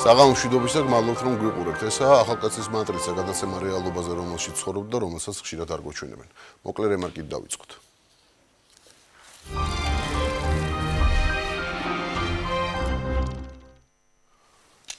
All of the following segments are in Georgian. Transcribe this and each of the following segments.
საღამომშვიდობისა გმადლობთ რომ გვიყურებთ. ესაა ახალკაცის მატრიცა გადაცემა რეალობაზე, რომელშიც ცხოვრობთ და რომელსაც ხშირად არ გვაჩვენებენ. მოკლე რემარკით დავიწყოთ.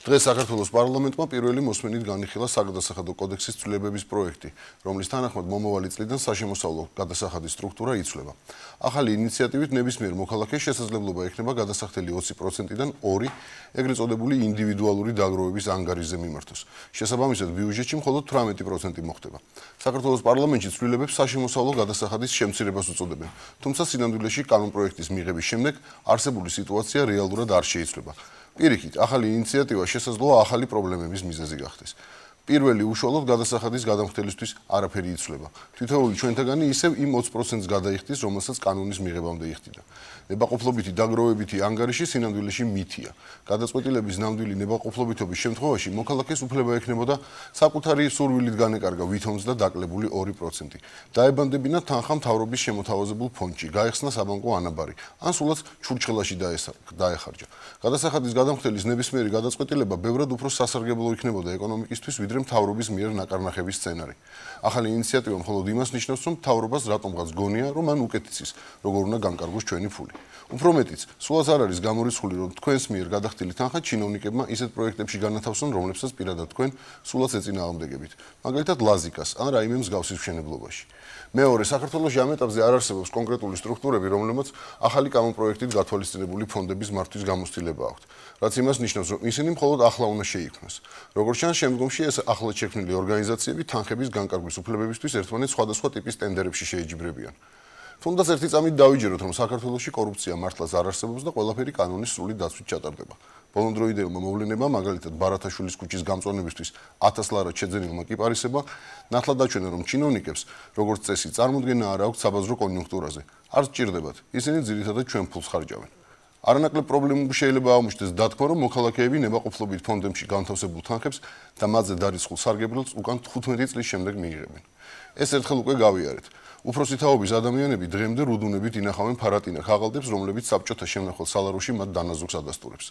დღეს საქართველოს პარლამენტმა პირველი მოსმენით განიხილა საგადასახადო კოდექსის ცვლილებების პროექტი, რომლის თანახმად მომავალი წლიდან საშემოსავლო გადასახადის სტრუქტურა იცვლება. ახალი ინიციატივით ნებისმიერ მოქალაქეს შესაძლებლობა ექნება გადასახდელი 20%-დან 2, ეგრეთ წოდებული ინდივიდუალური დაგროვების ანგარიშზე მიმართოს. შესაბამისად, ბიუჯეტში მხოლოდ 18% მოხდება. საქართველოს პარლამენტში ცვლილებებს საშემოსავლო გადასახადის შემცირებას უწოდებენ, თუმცა სინამდვილეში კანონპროექტის მიღების შემდეგ არსებული სიტუაცია რეალურად არ შეიცვლება. პირიქით, ახალი ინიციატივა შესაძლოა ახალი პრობლემების მიზეზი გახდეს. პირველი უშუალოდ გადასახადის გადამხდელისთვის არაფერი იცვლება. თითოეული ჩვენთაგანი ისევ იმ 20%-ს გადაიხდის, რომელსაც კანონის მიღებამდე იხდიდა. ნებაყოფლობითი დაგროვებითი ანგარიში სინამდვილეში მითია. გადაწყვეტილების ნამდვილი ნებაყოფლობითობის შემთხვევაში მოქალაქეს უფლება ექნებოდა საკუთარი სურვილით განეკარგა ვითომს და დაკლებული 2%. დაებანდებინა თანხა მთავრობის შემოთავაზებულ ფონდში, გაეხსნა საბანკო ანაბარი, ან სულაც ჩურჩხელაში დაეხარჯა. გადასახადის გადამხდელის ნებისმიერი გადაწყვეტილება ბევრად უფრო სასარგებლო იქნებოდა ეკონომიკისთვის, ვიდრე მთავრობის მიერ ნაკარნახების სცენარი. ახალი ინიციატივა მხოლოდ იმას ნიშნავს, რომ მთავრობას რატომღაც გონია, რომ მან უკეთ იცის, როგორ უნდა განკარგოს ჩვენი ფული. უფრო მეტიც, სულაც არ არის გამორიცხული, რომ თქვენს მიერ გადახდილი თანხა ჩინოვნიკებმა ისეთ პროექტებში განათავსონ, რომლებსაც პირადად თქვენ სულაც ეწინააღმდეგებით. მაგალითად, ლაზიკას ან რაიმე მსგავსის მშენებლობაში. მეორე, საქართველოში ამ ეტაპზე არ არსებობს კონკრეტული სტრუქტურები, რომლებმაც ახალი კანონპროექტით გათვალისწინებული ფონდების მართვის გამოცდილება აქვთ. რაც იმას ნიშნავს, რომ ისინი მხოლოდ ახლა უნდა შეიქმნას. როგორც ჩანს, შემდგომში ეს ახლად შექმნილი ორგანიზაციები თანხების განკარგვის უფლებებისთვის ერთმანეთს სხვადასხვა ტიპის ტენდერებში შეეჯიბრებიან. თუნდაც ერთი წამით დავიჯეროთ, რომ საქართველოში კორუფცია მართლაც არ არსებობს და ყველაფერი კანონის სრული დაცვით ჩატარდება. ბოლონდროიდელმა მოვლენებამ, მაგალითად ბარათაშვილის ქუჩის გამწვანებისთვის 1000 ლარად შეძენილმა კიპარისებმა ნათლად დაჩვენა, რომ ჩინოვნიკებს, როგორც წესი, წარმოდგენა არ აქვთ საბაზრო კონიუნქტურაზე. არ სჭირდებათ, ისინი ძირითადად ჩვენ ფულს ხარჯავენ. არანაკლებ პრობლემები შეიძლება აღმოჩნდეს დათქმა, რომ მოქალაქეები ნებაყოფლობით ფონდებში განთავსებულ თანხებს და მათზე დარიცხულ სარგებლობს უკან 15 წლის შემდეგ მიიღებენ. ეს ერთხელ უკვე გავიარეთ. უფროსი თაობის ადამიანები დღემდე რუდუნებით ინახავენ ფარატინახ აღალდებს, რომლებიც საბჭოთა შემნახვალ სალაროში მათ დანაზოგს ადასტურებს.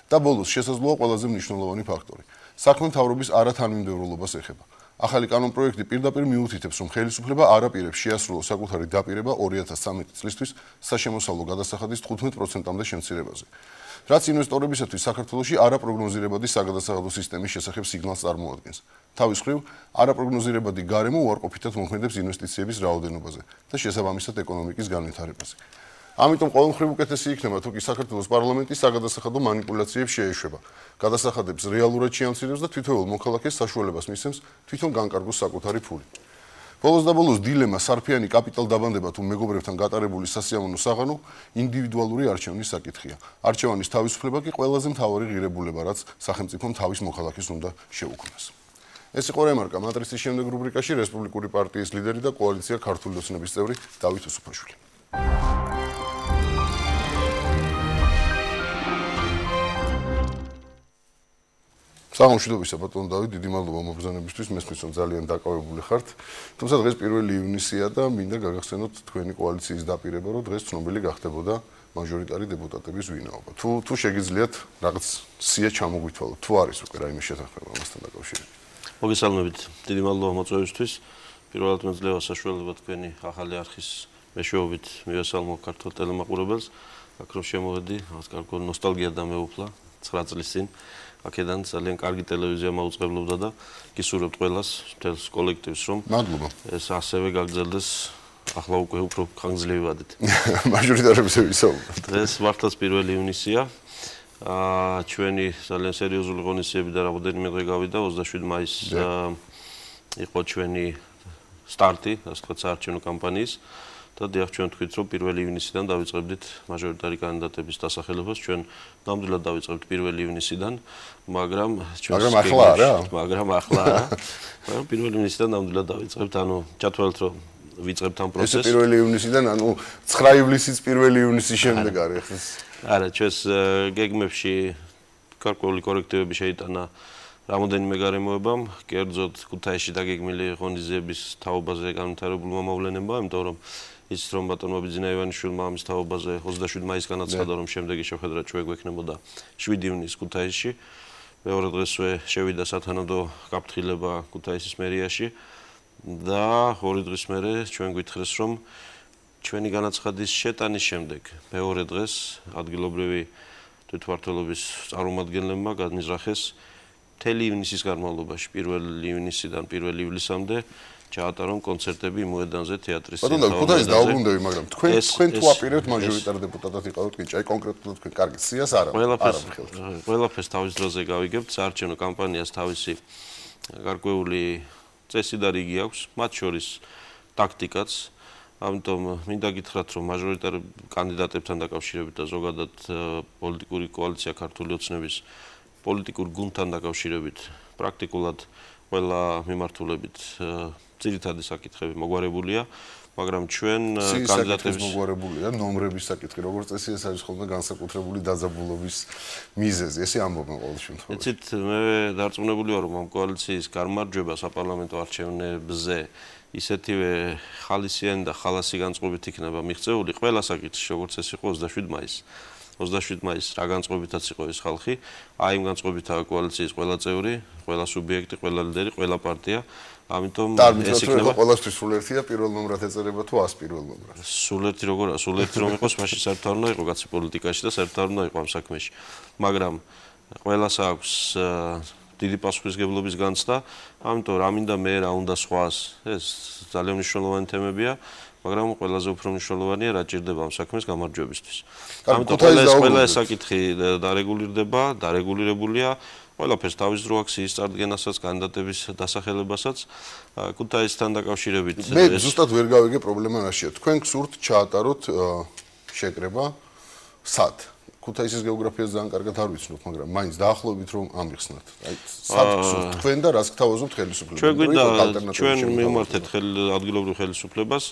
და ბოლოს შესაძლოა ყველაზე მნიშვნელოვანი ფაქტორი. საქმე მთავრობის არათანმიმდევრულობას ეხება. ახალი კანონპროექტი პირდაპირ მიუთითებს, რომ ხელისუფლება არ აპირებს შეასრულოს საკუთარი დაპირება 2013 წლისთვის საშემოსავლო გადასახადის 15%-მდე შემცირებაზე. რაც ინვესტორებისათვის საქართველოში არაპროგნოზირებადი საგადასახადო სისტემის შესახებ სიგნალს წარმოადგენს. თავის მხრივ, არაპროგნოზირებადი გარემო უარყოფითად მოქმედებს ინვესტიციების რაოდენობაზე და შესაბამისად ეკონომიკის განვითარებაზე. ამიტომ ყოველ მხრივ უკეთესი იქნება, თუ კი საქართველოს პარლამენტი საგადასახადო მანიპულაციებს შეეშვება, გადასახადებს რეალურად შეამცირებს და თითოეულ მოქალაქეს საშუალებას მისცემს თვითონ განკარგოს საკუთარი ფული. ბოლოს და ბოლოს დილემა სარფიანი კაპიტალდაბანდება თუ მეგობრებთან გატარებული სასიამოვნო საღამო ინდივიდუალური არჩევნის საკითხია. არჩევანის თავისუფლება კი ყველაზე მთავარი ღირებულება, რაც სახელმწიფომ თავის მოქალაქეს უნდა შეუქმნას. ეს იყო რემარკა მატრიცის შემდეგ რუბრიკაში რესპუბლიკური პარტიის ლიდერი და კოალიცია ქართული ოცნების წევრი დავით უსუფაშვილი. საღამომშვიდობისა ბატონო დავით, დიდი მადლობა მობრძანებისთვის, მესმის რომ ძალიან დაკავებული ხართ. თუმცა დღეს 1 ივნისია და მინდა გაგახსენოთ თქვენი კოალიციის დაპირება, რომ დღეს ცნობილი გახდებოდა მაჟორიტარი დეპუტატების ვინაობა. თუ შეგიძლიათ რაღაც სია ჩამოგვითვალოთ, თუ არის უკვე რაიმე შეთანხმება ამასთან დაკავშირებით. მოგესალმებით, დიდი მადლობა მოწვევისთვის. პირველად მეძლევა საშუალება თქვენი ახალი არხის მეშვეობით მივესალმო ქართულ ტელემაყურებელს. აქ რომ შემოვედი, რაღაც კარგი ნოსტალგია დამეუფლა 9 წლის წინ. აქედან ძალიან კარგი ტელევიზია მაუწყებლობდა და გისურვებთ ყველას, მთელს კოლექტივს, რომ მადლობა. ეს ასევე გაგრძელდეს ახლა უკვე უფრო ხანგრძლივი ვადით. მაჟორიტარებზე ვისაუბრებთ. დღეს მართლაც 1 ივნისია. ჩვენი ძალიან სერიოზული ღონისძიებები და რამოდენიმე დღე გავიდა, 27 მაისს იყო ჩვენი სტარტი, ასე ვთქვათ, საარჩევნო კამპანიის. და დიახ, ჩვენ თქვით, რომ 1 ივნისიდან დავიწყებდით მაჟორიტარი კანდიდატების დასახელებას. ჩვენ ნამდვილად დავიწყებთ 1 ივნისიდან, მაგრამ ახლა არა. მაგრამ 1 ივნისიდან ნამდვილად დავიწყებთ, ანუ ჩათვალეთ, რომ ვიწყებთ ამ პროცესს. ეს 1 ივნისიდან, ანუ 9 ივლისის 1 ივნისის შემდეგ არის ეს. არა, ჩვენს გეგმებში გარკვეული კორექტივები შეიტანა რამოდენიმე გარემოებამ, კერძოდ ქუთაისში დაგეგმილი ღონისძიების თაობაზე განვითარებულმა მოვლენებმა, იმიტომ რომ იცით რომ ბატონმა ბიძინაევანიშვილმა ამის თაობაზე 27 მაისს განაცხადა, რომ შემდეგი შეხვედრა ჩვენ გვექნებოდა 7 ივნისს ქუთაისში. მეორე დღესვე შევიდა სათანადო გაფრთხილება ქუთაისის მერიაში და 2 დღის მერე ჩვენ გვითხრეს, რომ ჩვენი განაცხადის შეტანის შემდეგ მეორე დღეს ადგილობრივი თვითმმართველობის წარმომადგენლებმა განიზრახეს მთელი ივნისის განმავლობაში 1 ივნისიდან 1 ივლისამდე ჩაატარონ კონცერტები მოედანზე თეატრის წინ. ბატონო, ქუთაისს დაუბრუნდები, მაგრამ თქვენ თუ აპირებთ მაჟორიტარ დეპუტატად იყავით, კი, აი კონკრეტულად თქვენ კარგი სიას არ არის. ყველაფერს თავის დროზე გავიგებთ, საარჩევნო კამპანიას თავისი გარკვეული წესი და რიგი აქვს, მათ შორის ტაქტიკაც. ამიტომ მინდა გითხრათ, რომ მაჟორიტარ კანდიდატებთან დაკავშირებით და ზოგადად პოლიტიკური კოალიცია ქართული ოცნების პოლიტიკურ გუნდთან დაკავშირებით პრაქტიკულად ყველა მიმართულებით ძირითადი საკითხები მოგვარებულია, მაგრამ ჩვენ კანდიდატების მოგვარებულია ნომრების საკითხი, როგორც წესი ეს არის ხოლმე განსაკუთრებული დაძაბულობის მიზეზი, ესე ამბობენ ყოველ შემთხვევაში. ეცით მე დარწმუნებული ვარ, რომ ამ კოალიციის გამარჯვება საპარლამენტო არჩევნებზე ისეთივე ხალისიანი და ხალასი განწყობით იქნება მიღწეული ყველა საკითხში, როგორც ეს იყო 27 მაისს. 27 მაისს რა განწყობითაც იყო ეს ხალხი, აი იმ განწყობითაა კოალიციის ყველა წევრი, ყველა სუბიექტი, ყველა ლიდერი, ყველა პარტია. ამიტომ ეს იქნება ყველასთვის სულ ერთია პირველ ნომრად ეწერება თუ 100 პირველ ნომრად. სულ ერთი რომ იყოს, მაშინ საერთოდ არ უნდა იყოს კაცი პოლიტიკაში და საერთოდ არ უნდა იყოს ამ საქმეში. მაგრამ ყველას აქვს დიდი პასუხისმგებლობის განცდა, ამიტომ რა მინდა მე რა უნდა სხვას, ეს ძალიან მნიშვნელოვანი თემებია, მაგრამ ყველაზე უფრო მნიშვნელოვანია რა ჭირდება ამ საქმის გამარჯვებისთვის. ამიტომ ყველა ეს საკითხი დარეგულირდება, დარეგულირებულია, ყველაფერს თავის დრო აქვს ის წარდგენასაც, კანდიდატების დასახელებასაც, ქუთაისთან დაკავშირებით. მე ზუსტად ვერ გავიგე პრობლემა რაშია. თქვენ გსურთ ჩაატაროთ შეკრება სად? ქუთაისის გეოგრაფიას ძალიან კარგად არ ვიცნობ, მაგრამ მაინც დაახლოებით რომ ამიხსნათ. აი, სად გსურთ თქვენ და რას გთავაზობთ ხელისუფლებას? ჩვენ გვინდა ჩვენ მივმართეთ ადგილობრივ ხელისუფლებას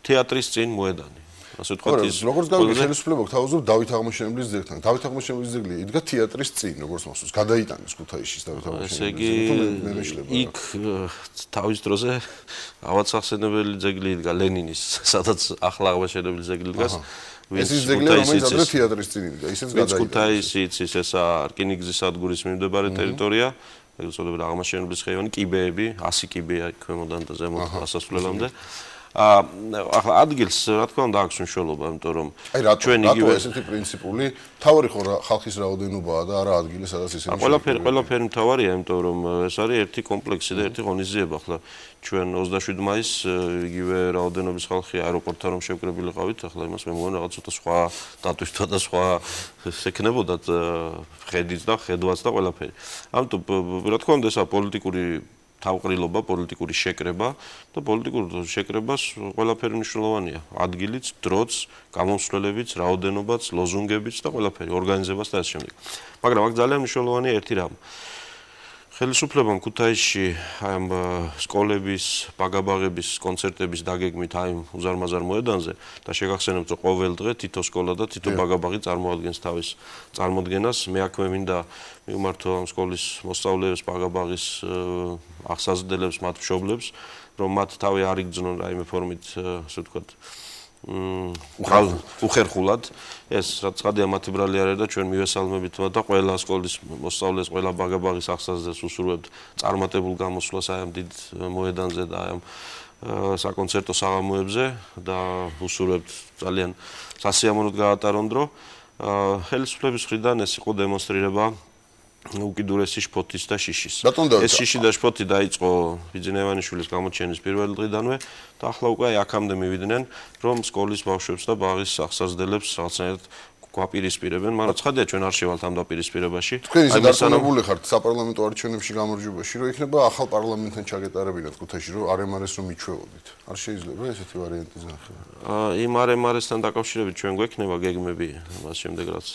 თეატრის წინ მოედანი. ასე ვთქვათ ის როგორც გავიგე ხელისუფლება გთავაზობთ დავით აღმაშენებლის ძეგლთან. დავით აღმაშენებლის ძეგლი იდგა თეატრის წინ, როგორც მოსულს. გადაიტანეს ქუთაისში დავით აღმაშენებლის ძეგლი. იქ თავის დროზე ავადსახსენებელი ძეგლი იდგა ლენინის, სადაც ახლა აღმაშენებელი ძეგლი დგას. ეს ის ძეგლი, რომელიც ადრე თეატრის წინ იდგა, ისიც გადაიტანეს. ქუთაისი იცის ესა რკინიგზის სადგურის მიმდებარე ტერიტორია, ეგ უწოდებოდა აღმაშენებლის ხეივანი, კიბეები, 100 კიბეა ქვემოდან და ზემოთ ასასვლელამდე. ახლა ადგილს რა თქმა უნდა აქვს მნიშვნელობა, იმიტომ რომ ჩვენ იგივე ესეთი პრინციპული თავარი ხო ხალხის რაოდენობაა და არა ადგილი, სადაც ისინი ყველაფერი მთავარია, იმიტომ რომ ეს არის ერთი კომპლექსი და ერთი ღონისძიება. ახლა ჩვენ 27 მაისს იგივე რაოდენობის ხალხი აეროპორტთან რომ შევკრებილიყავით, ახლა იმას მე მგონი რაღაც ცოტა სხვა დატვირთვა და სხვა ექნებოდათ ხედიც და ხედვაც და ყველაფერი. ამიტომ რა თქმა უნდა ესა პოლიტიკური თავყრილობა, პოლიტიკური შეკრება და პოლიტიკურ შეკრებას ყველაფერი მნიშვნელოვანია. ადგილიც, დროც, გამომსვლელებიც, რაოდენობაც, ლოზუნგებიც და ყველაფერი, ორგანიზებას და ასე შემდეგ. მაგრამ აქ ძალიან მნიშვნელოვანია ერთი რამ. ხელისუფლებამ ქუთაისში ამ სკოლების, ბაგაბაღების, კონცერტების დაგეგმით აი უზარმაზარ მოედანზე და შეგახსენებთ, რომ ყოველ დღე თითო სკოლა და თითო ბაგაბაღი წარმოადგენს თავის წარმოდგენას. მე აქვე მინდა მივმართო ამ სკოლის მოსწავლეებს, ბაგაბაღის აღსაზრდელებს, მათ მშობლებს, რომ მათ თავი არ იგრძნონ რაიმე ფორმით, ასე ვთქვათ, უხერხულად ეს რაც ხადია მათი ბრალი არ არის და ჩვენ მივესალმებით და ყველა სკოლის მოსწავლეს, ყველა ბაგაბაღის აღსაზრდელს უსურვებთ წარმატებულ გამოსვლას აი ამ დიდ მოედანზე და აი ამ საკონცერტო საღამოებზე და უსურვებთ ძალიან სასიამოვნოდ გაატარონ დრო. ხელისუფლების მხრიდან ეს იყო დემონსტრირება უკიდურესი შფოთის და შიშის. ეს შიში და შფოთი დაიწყო ბიძინევანიშვილის გამოჩენის პირველი დღიდანვე და ახლა უკვე აქამდე მივიდნენ, რომ სკოლის ბავშვებს და ბაღის აღსაზრდელებს რაღაცნაირად გვაპირისპირებენ, მაგრამ ცხადია ჩვენ არ შევალთ ამ დაპირისპირებაში. თქვენ ისე დარწმუნებული ხართ საპარლამენტო არჩევნებში გამარჯვებაში, რომ იქნება ახალ პარლამენტთან ჩაგეტარებინათ ქუთაისში, რომ RMRS რომ მიჩვეოდით. არ შეიძლება ესეთი ვარიანტი ზნახება. იმ RMRS-თან დაკავშირებით ჩვენ გვექნება გეგმები მას შემდეგ რაც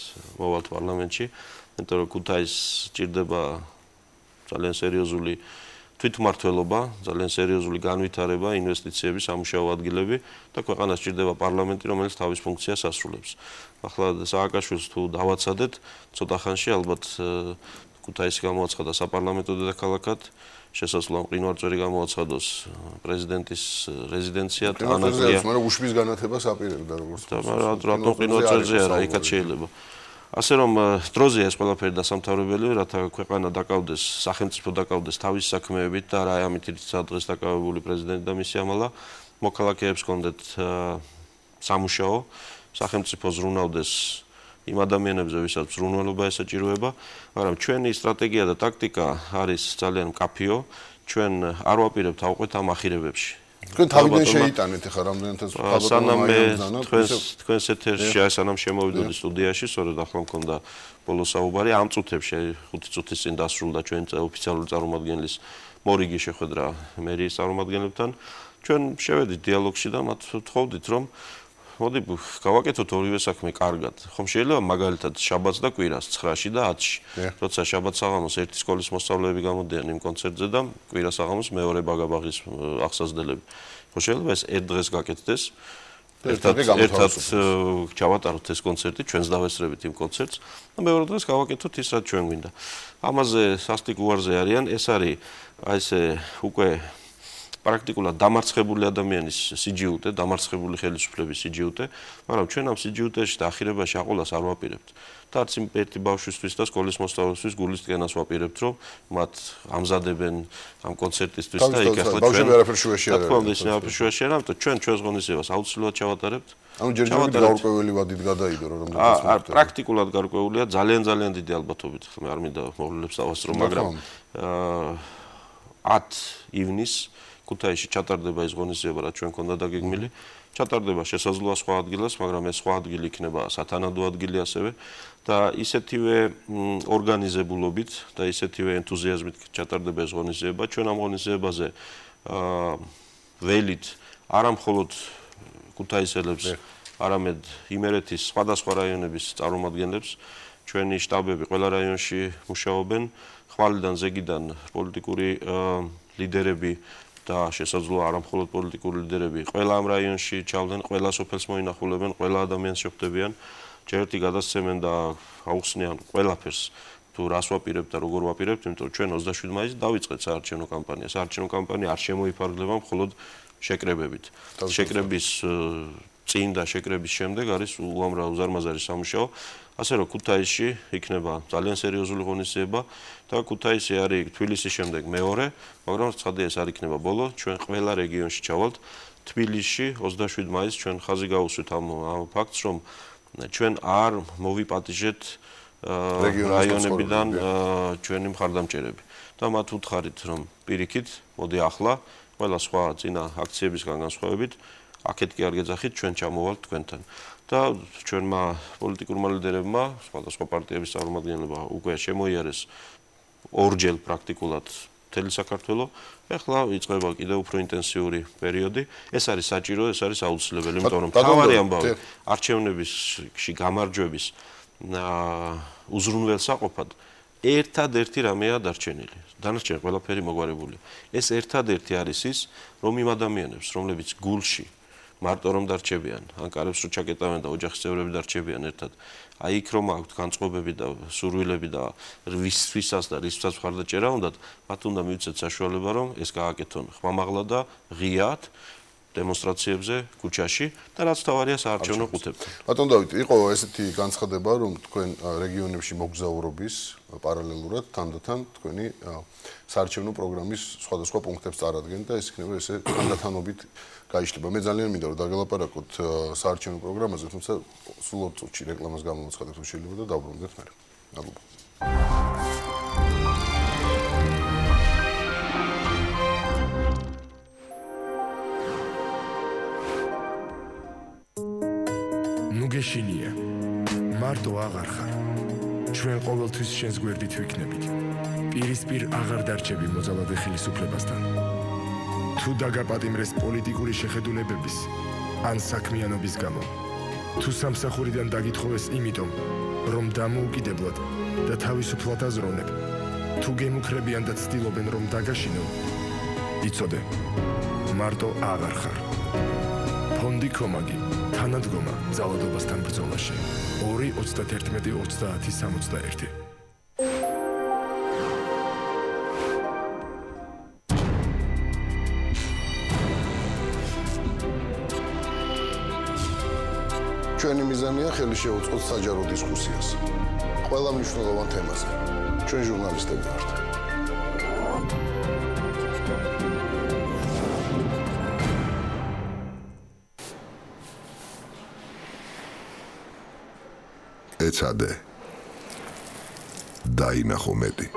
მოვალთ პარლამენტში. იმიტომ რომ ქუთაისს ჭირდება ძალიან სერიოზული თვითმმართველობა, ძალიან სერიოზული განვითარება, ინვესტიციები, სამუშაო ადგილები და ქვეყანას ჭირდება პარლამენტი, რომელიც თავის ფუნქციას ასრულებს. ახლა სააკაშვილს თუ დავაცადეთ, ცოტა ხანში ალბათ ქუთაისი გამოაცხადა საპარლამენტო დედაქალაქად, შესაძლოა მყინვარწვერი გამოაცხადოს პრეზიდენტის რეზიდენციად, ანაგლია. მაგრამ უშბის განათებას აპირებდა როგორც. და რატომ მყინვარწვერზე არა, იქაც შეიძლება. ასე რომ დროზეა ეს ყველაფერი დასამთავრებელი, რათა ქვეყანა დაკავდეს, სახელმწიფო დაკავდეს თავის საქმეებით და რა ამით დღეს დაკავებული პრეზიდენტი და მისი ამალა, მოქალაქეებს კონდეთ სამუშაო, სახელმწიფო ზრუნავდეს იმ ადამიანებზე, ვისაც ზრუნველობა ესაჭიროება, მაგრამ ჩვენი სტრატეგია და ტაქტიკა არის ძალიან მკაფიო, ჩვენ არ ვაპირებთ ავყვეთ ამ ახირებებში. თქვენ თავიდან შეიტანეთ ახლა რამდენადაც სანამ თქვენს ეთერში სანამ შემოვიდოდი სტუდიაში, სწორედ ახლა მქონდა ბოლო საუბარი, ამ წუთებში 5 წუთის წინ დასრულდა ჩვენი ოფიციალური წარმომადგენლის მორიგი შეხვედრა მერიის წარმომადგენლებთან. ჩვენ შევედით დიალოგში და მათ ვთხოვდით, რომ მოდი გავაკეთოთ ორივე საქმე კარგად. ხომ შეიძლება მაგალითად შაბათს და კვირას 9-ში და 10-ში. როცა შაბათ საღამოს ერთი სკოლის მოსწავლეები გამოდიან იმ კონცერტზე და კვირა საღამოს მეორე ბაგაბაღის აღსაზრდელები. ხო შეიძლება ეს ერთ დღეს გაკეთდეს. ერთად ჩავატაროთ ეს კონცერტი, ჩვენს დავესწრებით იმ კონცერტს და მეორე დღეს გავაკეთოთ ის, რაც ჩვენ გვინდა. ამაზე სასტიკ უარზე არიან, ეს არის აი ესე უკვე პრაქტიკულად დამარცხებული ადამიანის სიჯიუტე, დამარცხებული ხელისუფლების სიჯიუტე, მაგრამ ჩვენ ამ სიჯიუტეში და ახირებაში აყოლას არ ვაპირებთ. და არც იმ ერთი ბავშვისთვის და სკოლის მოსწავლეისთვის გულის ტკენას ვაპირებთ, რომ მათ ამზადებენ ამ კონცერტისთვის და იქ ახლა ჩვენ ბავშვები არაფერ შუაში არ არის. არაფერ შუაში არ არის, ამიტომ ჩვენ ჩვენს ღონისძიებას აუცილებლად ჩავატარებთ. ანუ ჯერჯერობით გარკვეული ვადით გადაიდო რომ არ პრაქტიკულად გარკვეულია, ძალიან დიდი ალბათობით, მე არ მინდა მოვლენებს დავასწრო, მაგრამ 10 ივნისს ქუთაისში ჩატარდება ის ღონისძიება, რაც ჩვენ ქონდა დაგეგმილი. ჩატარდება შესაძლოა სხვა ადგილას, მაგრამ ეს სხვა ადგილი იქნება სათანადო ადგილი ასევე და ისეთივე ორგანიზებულობით და ისეთივე ენთუზიაზმით ჩატარდება ეს ღონისძიება. ჩვენ ამ ღონისძიებაზე ველით არა მხოლოდ ქუთაისელებს, არამედ იმერეთის სხვადასხვა რაიონების წარმომადგენლებს, ჩვენი შტაბები ყველა რაიონში მუშაობენ, ხვალიდან ზეგიდან პოლიტიკური ლიდერები და შესაძლოა არა მხოლოდ პოლიტიკური ლიდერები ყველა ამ რაიონში ჩავდნენ, ყველა სოფელს მოინახულებენ, ყველა ადამიანს შეხვდებიან, ჯერტი გადასცემენ და აუხსნიან ყველაფერს თუ რას ვაპირებთ და როგორ ვაპირებთ, იმიტომ რომ ჩვენ 27 მაისს დავიწყეთ საარჩევნო კამპანია. საარჩევნო კამპანია არ შემოიფარგლება მხოლოდ შეკრებებით. შეკრების წინ და შეკრების შემდეგ არის უამრავ უზარმაზარი სამუშაო. ასე რომ ქუთაისში იქნება ძალიან სერიოზული ღონისძიება და ქუთაისი არის თბილისის შემდეგ მეორე, მაგრამ ცხადია ეს არ იქნება ბოლო, ჩვენ ყველა რეგიონში ჩავალთ. თბილისში 27 მაისს ჩვენ ხაზი გავუსვით ამ ფაქტს, რომ ჩვენ არ მოვიპატიჟეთ რაიონებიდან ჩვენი მხარდამჭერები და მათ უთხარით, რომ პირიქით, მოდი ახლა ყველა სხვა წინა აქციებისგან განსხვავებით აქეთ კი არ გეძახით, ჩვენ ჩამოვალთ თქვენთან. და ჩვენმა პოლიტიკურმა ლიდერებმა, სხვადასხვა პარტიების წარმომადგენლებმა უკვე შემოიარეს ორჯერ პრაქტიკულად მთელი საქართველო. ეხლა იწყება კიდევ უფრო ინტენსიური პერიოდი. ეს არის საჭირო, ეს არის აუცილებელი, იმიტომ რომ თავარი ამბავი არჩევნებში გამარჯვების უზრუნველსაყოფად ერთადერთი რამეა დარჩენილი. დანარჩენი ყველაფერი მოგვარებულია. ეს ერთადერთი არის ის, რომ იმ ადამიანებს, რომლებიც გულში მარტო რომ დარჩებიან, ან კარებს რო ჩაკეტავენ და ოჯახის წევრები დარჩებიან ერთად. აი იქ რომ აქვთ განწყობები და სურვილები და ვისაც და რისთვისაც მხარდაჭერა უნდათ, მათ უნდა მივცეთ საშუალება, რომ ეს გააკეთონ ხმამაღლა და ღიად დემონსტრაციებზე, ქუჩაში და რაც თავარია საარჩევნო ყუთებთან. ბატონ დავით, იყო ესეთი განცხადება, რომ თქვენ რეგიონებში მოგზაურობის პარალელურად თანდათან თქვენი საარჩევნო პროგრამის სხვადასხვა პუნქტებს წარადგენთ და ეს იქნება ესე თანდათანობით გაიშლება. მე ძალიან მინდა რომ დაგელაპარაკოთ საარჩევნო პროგრამაზე, თუმცა სულ 20 წუთში რეკლამას გამოვაცხადოთ, თუ შეიძლება და დავბრუნდეთ მერე. მადლობა. ნუ გეშინია. მარტო აღარ ხარ. ჩვენ ყოველთვის შენს გვერდით ვიქნებით. პირისპირ აღარ დარჩები მოძალადე ხელისუფლებასთან. თუ დაგაპატიმრეს პოლიტიკური შეხედულებების ან საქმიანობის გამო, თუ სამსახურიდან დაგითხოვეს იმიტომ, რომ დამოუკიდებლად და თავისუფლად აზროვნებ, თუ გემუქრებიან და ცდილობენ რომ დაგაშინონ, იცოდე, მარტო აღარ ხარ. ფონდი კომაგი, თანადგომა ძალადობასთან ბრძოლაში. 2-31-30-61. ჩვენი მიზანია ხელი შეუწყოთ საჯარო დისკუსიას ყველა მნიშვნელოვან თემაზე. ჩვენ ჟურნალისტები ვართ. ეცადე დაინახო მეტი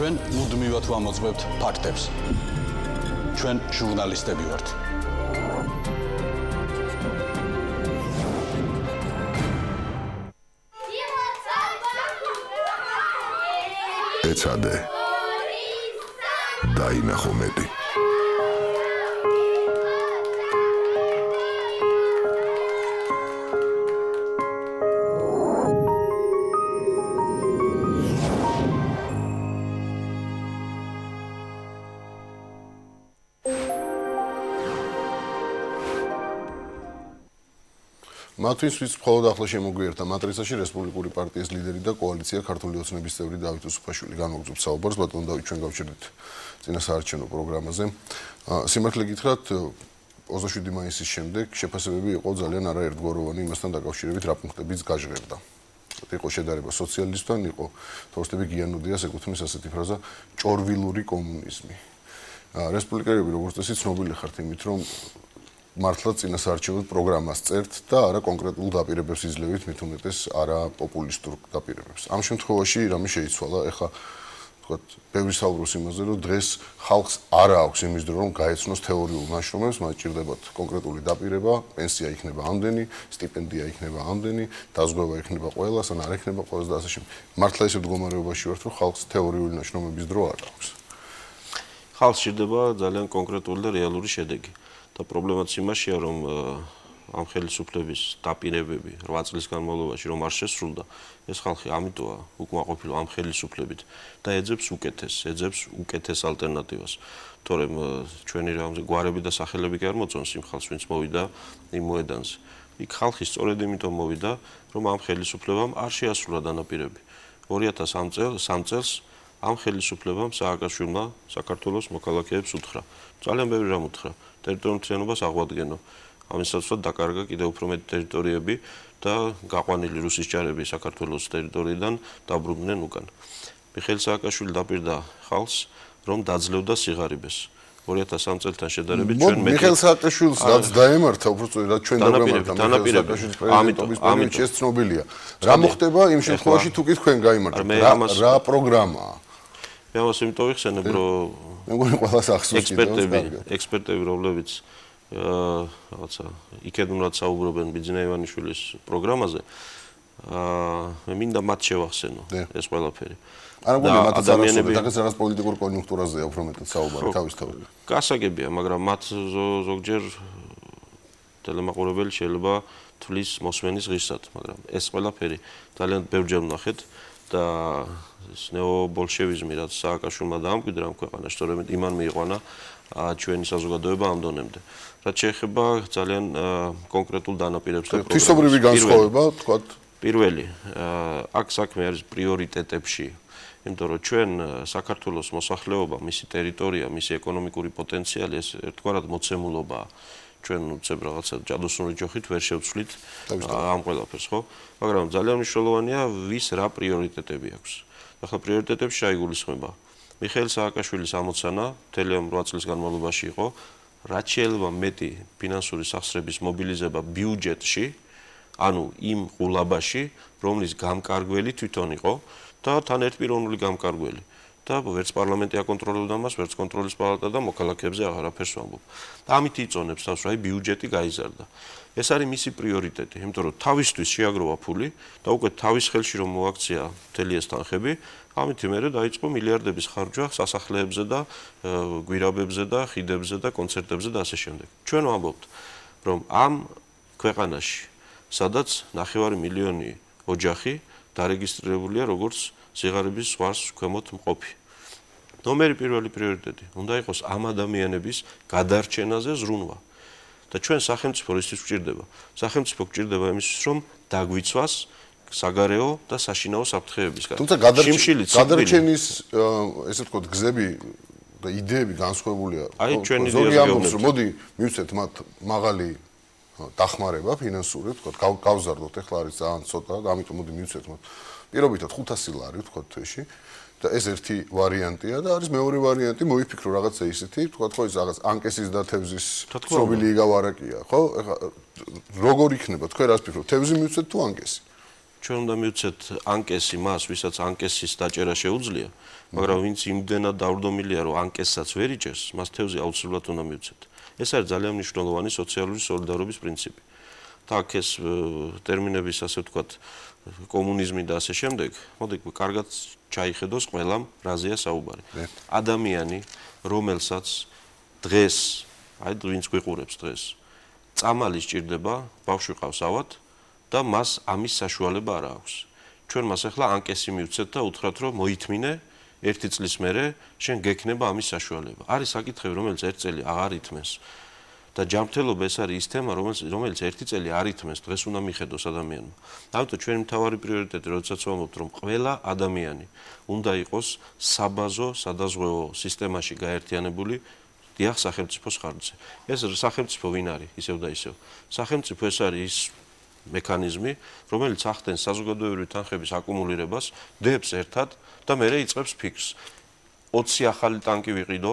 ჩვენ მუდმივად ვამოწმებთ ფაქტებს. ჩვენ ჟურნალისტები ვართ. ეცადე დაინახო მეტი მათთვის ვის მხოლოდ ახლა შემოგვიერთდა მატრიცაში რესპუბლიკური პარტიის ლიდერი და კოალიცია ქართული ოცნების წევრი დავით უსუფაშვილი. განვაგრძობთ საუბარს, ბატონო დავით, ჩვენ გავჩერდით წინასაარჩევნო პროგრამაზე. სიმართლე გითხრათ, 27 მაისის შემდეგ შეფასებები იყო ძალიან არაერთგვაროვანი იმასთან დაკავშირებით, რა პუნქტებიც გაჟღერდა. იყო შედარება სოციალისტთან, იყო თორსტები გიანუდიას ეკუთვნის ასეთი ფრაზა ჭორვილური კომუნიზმი. რესპუბლიკელები როგორც წესი ცნობილი ხართ იმით, რომ მართლა წინასაარჩევნო პროგრამას წერთ და არა კონკრეტულ დაპირებებს იძლევით, მით უმეტეს არა პოპულისტურ დაპირებებს. ამ შემთხვევაში რამე შეიცვალა, ეხლა თქვათ, ბევრი საუბრობს იმაზე, რომ დღეს ხალხს არ აქვს იმის დრო, რომ გაეცნოს თეორიულ ნაშრომებს, მათ ჭირდებათ კონკრეტული დაპირება, პენსია იქნება ამდენი, სტიპენდია იქნება ამდენი, დაზღვევა იქნება ყველას, ან არ იქნება ყველას და ასე შემდეგ. მართლა ისეთ მდგომარეობაში ვართ, რომ ხალხს თეორიული ნაშრომების დრო არ აქვს. ხალხს ჭირდება ძალიან კონკრეტული და რეალური შედეგი. და პრობლემაც იმაშია, რომ ამ ხელისუფლების დაპირებები 8 წლის განმავლობაში რომ არ შესრულდა, ეს ხალხი ამიტოა უკმაყოფილო ამ ხელისუფლებით და ეძებს უკეთეს ალტერნატივას. თორემ ჩვენი რამზე გვარები და სახელები კი არ მოწონს იმ ხალხს, ვინც მოვიდა იმ მოედანზე. იქ ხალხი სწორედ იმიტომ მოვიდა, რომ ამ ხელისუფლებამ არ შეასრულა დანაპირები. 2003 წელს ამ ხელისუფლებამ სააკაშვილმა საქართველოს მოქალაქეებს უთხრა. ძალიან ბევრი რამ უთხრა. ტერიტორიულ მთლიანობას აღვადგენო. ამისაცვლად დაკარგა კიდევ უფრო მეტი ტერიტორიები და გაყვანილი რუსის ჯარები საქართველოს ტერიტორიიდან დაბრუნდნენ უკან. მიხეილ სააკაშვილი დაპირდა ხალხს, რომ დაძლევდა სიღარიბეს. 2003 წელთან შედარებით ჩვენ მეტი მიხეილ სააკაშვილს რაც დაემართა, უბრალოდ რაც ჩვენ დავემართა მიხეილ სააკაშვილის პრეზიდენტობის პერიოდში ეს ცნობილია. რა მოხდება იმ შემთხვევაში თუ კი თქვენ გაიმარჯვებთ? რა პროგრამაა? მე ამას იმიტომ ვიხსენებ, რომ მე მგონი ყველას ახსოვს ექსპერტები, რომლებიც რაღაცა იქედნურად საუბრობენ ბიძინა ივანიშვილის პროგრამაზე, მე მინდა მათ შევახსენო ეს ყველაფერი. არა მგონია მათაც არასწორია, დღეს რაღაც პოლიტიკურ კონიუნქტურაზეა უფრო მეტად საუბარი თავისთავად. გასაგებია, მაგრამ მათ ზოგჯერ ტელემაყურებელი შეიძლება თვლის მოსმენის ღირსად, მაგრამ ეს ყველაფერი ძალიან ბევრჯერ ვნახეთ და ეს ნეობოლშევიზმი, რაც სააკაშვილმა დაამკვიდრა ამ ქვეყანაში, სწორედ იმან მიიყვანა ჩვენი საზოგადოება ამ დონემდე. რაც შეეხება ძალიან კონკრეტულ დანაპირებს და პროგრამებს. თვისობრივი განსხვავება, თქვათ, პირველი, აქ საქმე არის პრიორიტეტებში. იმიტომ რომ ჩვენ საქართველოს მოსახლეობა, მისი ტერიტორია, მისი ეკონომიკური პოტენციალი ეს ერთგვარად მოცემულობაა. ჩვენ უცებ რაღაცა ჯადოსნური ჯოხით ვერ შევცვლით ამ ყველაფერს, ხო? მაგრამ ძალიან მნიშვნელოვანია ვის რა პრიორიტეტები აქვს. ახლა პრიორიტეტებში შეიგულისხმება. მიხეილ სააკაშვილის ამოცანა მთელი ამ 8 წლის განმავლობაში იყო, რაც შეიძლება მეტი ფინანსური სახსრების მობილიზება ბიუჯეტში, ანუ იმ ყულაბაში, რომლის გამკარგველი თვითონ იყო და თან ერთპიროვნული გამკარგველი. და ვერც პარლამენტი აკონტროლებდა მას, ვერც კონტროლის პალატა და მოქალაქეებზე აღარაფერს ვამბობ. ამით იწონებს თავს, რომ ბიუჯეტი გაიზარდა. ეს არის მისი პრიორიტეტი, იმიტომ რომ თავისთვის შეაგროვა ფული და უკვე თავის ხელში რომ მოაქცია მთელი ეს თანხები, ამით მერე დაიწყო მილიარდების ხარჯვა სასახლეებზე და გვირაბებზე და ხიდებზე და კონცერტებზე და ასე შემდეგ. ჩვენ ვამბობთ, რომ ამ ქვეყანაში, სადაც 9 მილიონი ოჯახი დარეგისტრირებულია როგორც სიღარიბის ზღვარს ქვემოთ მყოფი. ნომერი პირველი პრიორიტეტი უნდა იყოს ამ ადამიანების გადარჩენაზე ზრუნვა. და ჩვენ სახელმწიფო რისთვის გვჭირდება? სახელმწიფო გვჭირდება იმისთვის, რომ დაგვიცვას საგარეო და საშინაო საფრთხეებისგან. თუმცა გადარჩენის ესე ვთქვათ გზები და იდეები განსხვავებულია. ზოგი ამბობს, რომ მოდი მივცეთ მათ მაღალი დახმარება ფინანსური, ვთქვათ, გავზარდოთ, ეხლა არის ძალიან ცოტა და ამიტომ მოდი მივცეთ მათ. პირობითად 500 ლარი, ვთქვათ, თვეში. და ეს ერთი ვარიანტია და არის მეორე ვარიანტი, მოიფიქრო რაღაცა ისეთი, ვთქვათ, ხო ის რაღაც ანკესის და თევზის ცნობილი იგავარაკია, ხო? ეხლა როგორ იქნება, თქვენ რას ფიქრობთ, თევზი მივცეთ თუ ანკესი? ჩვენ უნდა მივცეთ ანკესი მას, ვისაც ანკესის დაჭერა შეუძლია, მაგრამ ვინც იმდენად დავრდომილია, რომ ანკესაც ვერ იჭერს, მას თევზი აუცილებლად უნდა მივცეთ. ეს არის ძალიან მნიშვნელოვანი სოციალური სოლიდარობის პრინციპი. და აქ ეს ტერმინების, ასე ვთქვათ, კომუნიზმი და ასე შემდეგ, მოდი კარგად ჩაიხედოს ყველამ რაზეა საუბარი. ადამიანი, რომელსაც დღეს, აი ვინც გვიყურებს დღეს, წამალი სჭირდება, ბავშვი ყავს ავად და მას ამის საშუალება არ აქვს. ჩვენ მას ახლა ანკესი მივცეთ და უთხრათ, რომ მოითმინე 1 წლის მერე შენ გექნება ამის საშუალება. არის საკითხები, რომელიც 1 წელი აღარ ითმენს. და ჯანმრთელობა ეს არის ის თემა, რომელიც 1 წელი არ ითმენს, დღეს უნდა მიხედოს ადამიანმა. ამიტომ ჩვენი მთავარი პრიორიტეტი, როდესაც ვამბობთ, რომ ყველა ადამიანი უნდა იყოს საბაზო, სადაზღვევო სისტემაში გაერთიანებული, დიახ, სახელმწიფოს ხარჯზე. ეს სახელმწიფო ვინ არის, ისევ და ისევ. სახელმწიფო ეს არის ის მექანიზმი, რომელიც ახდენს საზოგადოებრივი თანხების აკუმულირებას, დებს ერთად და მერე იწყებს ფიქრს. 20 ახალი ტანკი ვიყიდო,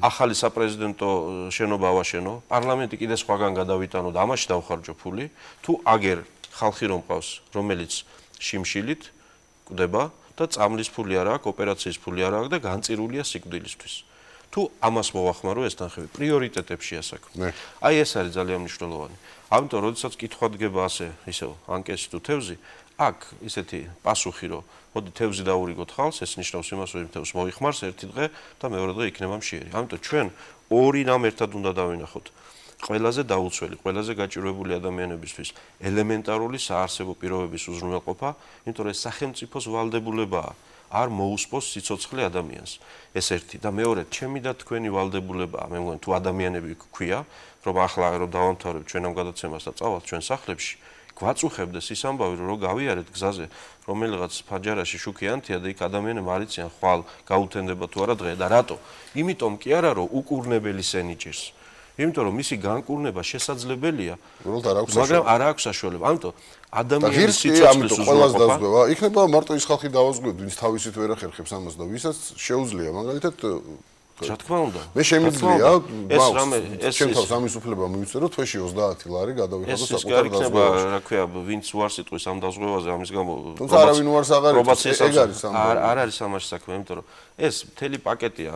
ახალი საპრეზიდენტო შენობა ავაშენო, პარლამენტი კიდე სხვაგან გადავიტანო და ამაში დავხარჯო ფული, თუ აგერ ხალხი რომ ყავს, რომელიც შიმშილით კვდება და წამლის ფული არ აქვს, ოპერაციის ფული არ აქვს და განწირულია სიკვდილისთვის. თუ ამას მოვახმარო ეს თანხები, პრიორიტეტებში ასაქმე. აი ეს არის ძალიან მნიშვნელოვანი. ამიტომ როდესაც კითხვა დგება ასე, ისევ, ანკესი თუ თევზი, აქ ისეთი პასუხი რომ მოდი თევზი დაურიგოთ ხალხს, ეს ნიშნავს იმას, რომ თევზს მოიხმარს ერთი დღე და მეორე დღე იქნება მშიერი. ამიტომ ჩვენ ორი რამ ერთად უნდა დავინახოთ. ყველაზე დაუცველი, ყველაზე გაჭირვებული ადამიანებისთვის ელემენტარული საარსებო პირობების უზრუნველყოფა, იმიტომ რომ ეს სახელმწიფოს ვალდებულებაა. არ მოусპოს სიცოცხლე ადამიანს. ეს ერთი და მეორე, ჩემი და თქვენი ვალდებულებაა. მე მგონი თუ ადამიანები გვქვია, რომ ახლა რომ დავამთავრებთ ჩვენ ამ გადაცემას და წავალთ ჩვენ სახლებში, გვაწუხებდეს ის ამბავი, რომ გავიარეთ გზაზე, რომელიღაც ფაჯარაში შუქიანთია და იქ ადამიანები არ იციან ხვალ გაუთენდება თუ არა დღე და რატო? იმიტომ კი არა, რომ უკურნებელი სენიჭირს. იმიტომ რომ მისი განკურნება შესაძლებელია, მაგრამ არ აქვს საშუალება. ამიტომ ადამიანის სიცოცხლის უზრუნველყოფა იქნება მარტო ის ხალხი დავაზღვევთ, ვინც თავისით ვერ ახერხებს ამას და ვისაც შეუძლია, მაგალითად რა თქმა უნდა. მე შემიძლია, ეს რამე ეს ჩემ თავს ამის უფლება მივწერო, თვეში 30 ლარი გადავიხადო საკუთარ დაზღვევაში. ეს რა ქვია, ვინც უარს იტყვის ამ დაზღვევაზე, ამის გამო თუმცა არავინ უარს აღარ იტყვის, ეგ არის ამბავი. არ არის ამაში საქმე, იმიტომ რომ ეს მთელი პაკეტია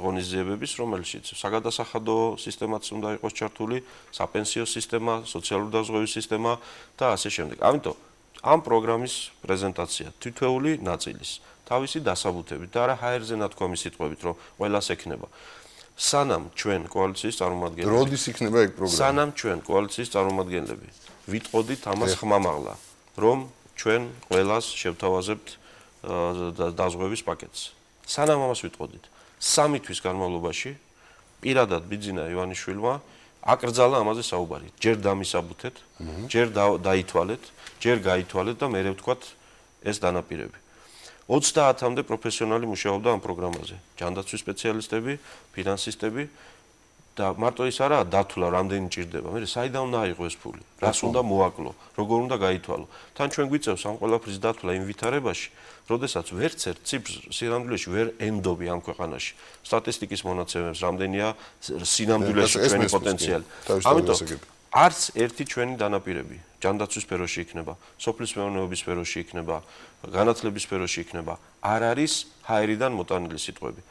ღონისძიებების, რომელშიც საგადასახადო სისტემაც უნდა იყოს ჩართული, საპენსიო სისტემა, სოციალური დაზღვევის სისტემა და ასე შემდეგ. ამიტომ ამ პროგრამის პრეზენტაცია თითოეული ნაწილის თავისი დასაბუთებით და არა ჰაერზე ნათქვამი სიტყვებით, რომ ყველას ექნება. სანამ ჩვენ კოალიციის წარმომადგენლები როდის იქნება ეგ პროგრამა? სანამ ჩვენ კოალიციის წარმომადგენლები ვიტყოდით ამას ხმამაღლა, რომ ჩვენ ყველას შევთავაზებთ დაზღვევის პაკეტს. სანამ ამას ვიტყოდით, 3 თვის განმავლობაში პირადად ბიძინა ივანიშვილმა აკრძალა ამაზე საუბარი. ჯერ დამისაბუთეთ, ჯერ დაითვალეთ, ჯერ გაითვალეთ და მერე ვთქვათ ეს დანაპირები. 30-მდე პროფესიონალი მუშაობდა ამ პროგრამაზე. ჯანდაცვის სპეციალისტები, ფინანსისტები და მარტო ის არაა დათვლა, რამდენი ჭირდება. მე საიდან უნდა აიღო ეს ფული? რას უნდა მოაკლო? როგორ უნდა გაითვალო? თან ჩვენ გვიწევს ამ ყველაფრის დათვლა იმ ვითარებაში, როდესაც ვერც ერთ ციფრს სინამდვილეში ვერ ენდობი ამ ქვეყანაში. სტატისტიკის მონაცემებს რამდენია სინამდვილეში ჩვენი პოტენციალი. ამიტომ არც ერთი ჩვენი დანაპირები ჯანდაცვის სფეროში იქნება, სოფლის მეურნეობის სფეროში იქნება, განათლების სფეროში იქნება, არ არის ჰაერიდან მოტანილი სიტყვები.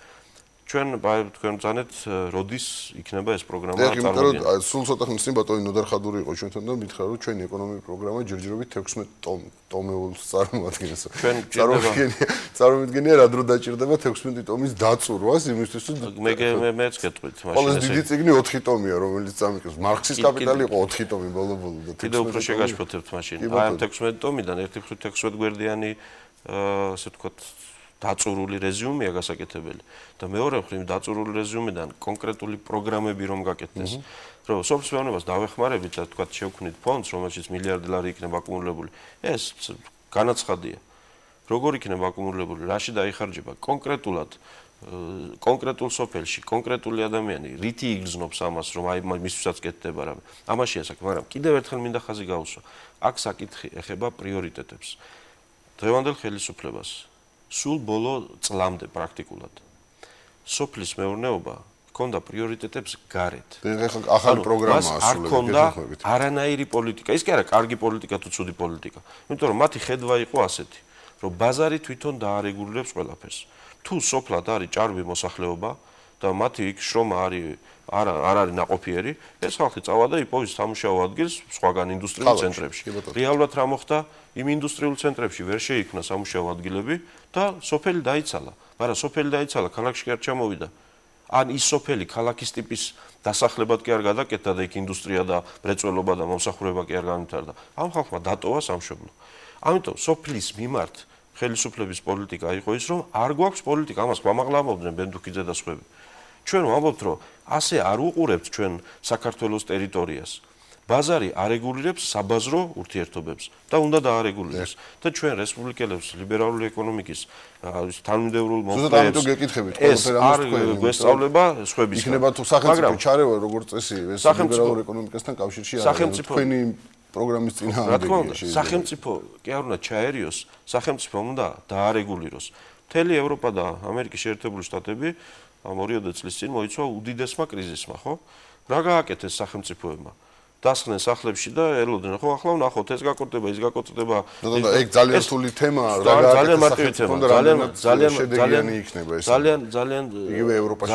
ჩვენ ბრძანეთ, როდის იქნება ეს პროგრამა წარმოგიდგენილი. და სულ ცოტა ხნის წინ ბატონი ნოდარ ხადური იყო ჩვენთან და მითხრა, რომ ჩვენი ეკონომიკური პროგრამა ჯერჯერობით 16 ტომეულს წარმოადგენს. წარმოვიდგენია რა დრო დაჭირდება 16 ტომის დაწურვას იმისთვის, რომ მეც გეტყვით მაშინ. ყოველ დიდი წიგნი 4 ტომია, რომელიც წამიკრებს. მარქსის კაპიტალი იყო 4 ტომი ბოლო-ბოლო და კიდე უფრო შეგაშფოთებთ მაშინ. აი ამ 16 ტომიდან ერთი მხრივ 16 გვერდიანი ასე ვთქვათ დაწურული რეზიუმეა გასაკეთებელი და მეორე მხრივ დაწურული რეზიუმედან კონკრეტული პროგრამები რომ გაკეთდეს რომ სოფლის მეურნეობას დავეხმარებით და თქვა შევქმნით ფონდს, რომელშიც მილიარდი ლარი იქნება აკუმულებული. ეს განაცხადია. როგორ იქნება აკუმულებული, რაში დაიხარჯება კონკრეტულად კონკრეტულ სოფელში, კონკრეტული ადამიანი რითი იგრძნობს ამას, რომ აი მისთვისაც კეთდება რამე. ამაშია საქმე, მაგრამ კიდევ ერთხელ მინდა ხაზი გაუსვა. აქ საკითხი ეხება პრიორიტეტებს. დღევანდელ ხელისუფლებას სულ ბოლო წლამდე პრაქტიკულად სოფლის მეურნეობა ჰქონდა პრიორიტეტებს გარეთ. ახალი პროგრამაა არ ჰქონდა არანაირი პოლიტიკა. ის კი არა კარგი პოლიტიკა თუ ცუდი პოლიტიკა. იმიტომ რომ მათი ხედვა იყო ასეთი, რომ ბაზარი თვითონ დაარეგულირებს ყველაფერს. თუ სოფლად არის ჭარბი მოსახლეობა და მათი იქ შრომა არ არის ნაყოფიერი, ეს ხალხი წავა და იპოვის სამუშაო ადგილს სხვაგან ინდუსტრიულ ცენტრებში. რეალურად რა მოხდა? იმ ინდუსტრიულ ცენტრებში ვერ შეიქმნა სამუშაო ადგილები და სოფელი დაიცალა. მაგრამ სოფელი დაიცალა, ქალაქში კი არ ჩამოვიდა. ან ის სოფელი ქალაქის ტიპის დასახლებად კი არ გადაკეთდა და იქ ინდუსტრია და მრეწველობა და მომსახურება კი არ განვითარდა. ამ ხალხმა დატოვა სამშობლო. ამიტომ სოფლის მიმართ ხელისუფლების პოლიტიკა იყო ის, რომ არ გვაქვს პოლიტიკა, ამას გვამაღლამობდნენ ბენდუქიძე და სხვები. ჩვენ ვამბობთ, რომ ასე არ უყურებთ ჩვენ საქართველოს ტერიტორიას. ბაზარი არეგულირებს საბაზრო ურთიერთობებს და უნდა დაარეგულიროს. და ჩვენ რესპუბლიკელებს ლიბერალური ეკონომიკის თანმიმდევრულ მომხრეებს ეს არ გვესწავლება სხვებისგან. იქნება თუ სახელმწიფო ჩარევა როგორც წესი ეს ლიბერალურ ეკონომიკასთან კავშირში არის. თქვენი პროგრამის წინააღმდეგია. რა თქმა უნდა, სახელმწიფო კი არ უნდა ჩაერიოს, სახელმწიფო უნდა დაარეგულიროს. მთელი ევროპა და ამერიკის შეერთებული შტატები ამ 2 წლის წინ მოიცვა უდიდესმა კრიზისმა, ხო? რა გააკეთეს სახელმწიფოებმა? დასხნენ სახლებში და ელოდნენ, ხო, ახლა ვნახოთ, ეს გაკეთდება, ის გაკეთდება. ეგ ძალიან რთული თემაა, რა გააკეთეს სახელმწიფომ და ძალიან შედეგიანი იქნება ეს. ძალიან იგივე ევროპაში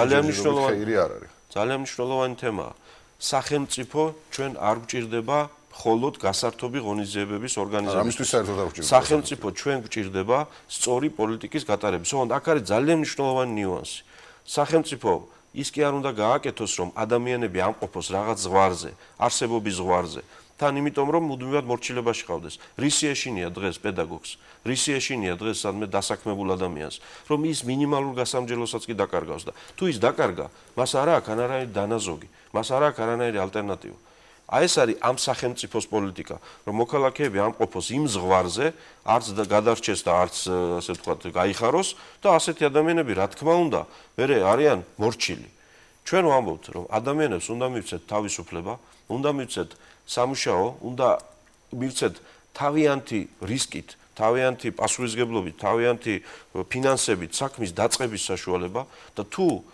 ხეირი არ არის. ძალიან მნიშვნელოვანი თემაა. სახელმწიფო ჩვენ არ გვჭირდება მხოლოდ გასართობი ღონისძიებების ორგანიზება. ამისთვის საერთოდ არ გვჭირდება. სახელმწიფო ჩვენ გვჭირდება სწორი პოლიტიკის გატარების. ოღონდ აქ არის ძალიან მნიშვნელოვანი ნიუანსი. სახელმწიფო ის კი არ უნდა გააკეთოს, რომ ადამიანები ამყოფოს რაღაც ზღვარზე, არსებობის ზღვარზე. თან იმიტომ, რომ მუდმივად მორჩილებაში ყავდეს. რისი ეშინია დღეს პედაგოგს, რისი ეშინია დღეს სადმე დასაქმებულ ადამიანს, რომ ის მინიმალურ გასამჯელოსაც კი დაკარგავს და თუ ის დაკარგა, მას არ აქვს არანაირი დანაზოგი, მას არ აქვს არანაირი ალტერნატივა. აი ეს არის ამ სახელმწიფოს პოლიტიკა, რომ მოქალაქეები ამყოფოს იმ ზღვარზე, არც გადარჩეს და არც ასე ვთქვათ, გაიხაროს და ასეთი ადამიანები, რა თქმა უნდა, მერე არიან მორჩილი. ჩვენ ვამბობთ, რომ ადამიანებს უნდა მივცეთ თავისუფლება, უნდა მივცეთ სამუშაო, უნდა მივცეთ თავიანთი რისკით, თავიანთი პასუხისმგებლობით, თავიანთი ფინანსებით საქმის დაწყების საშუალება და თუ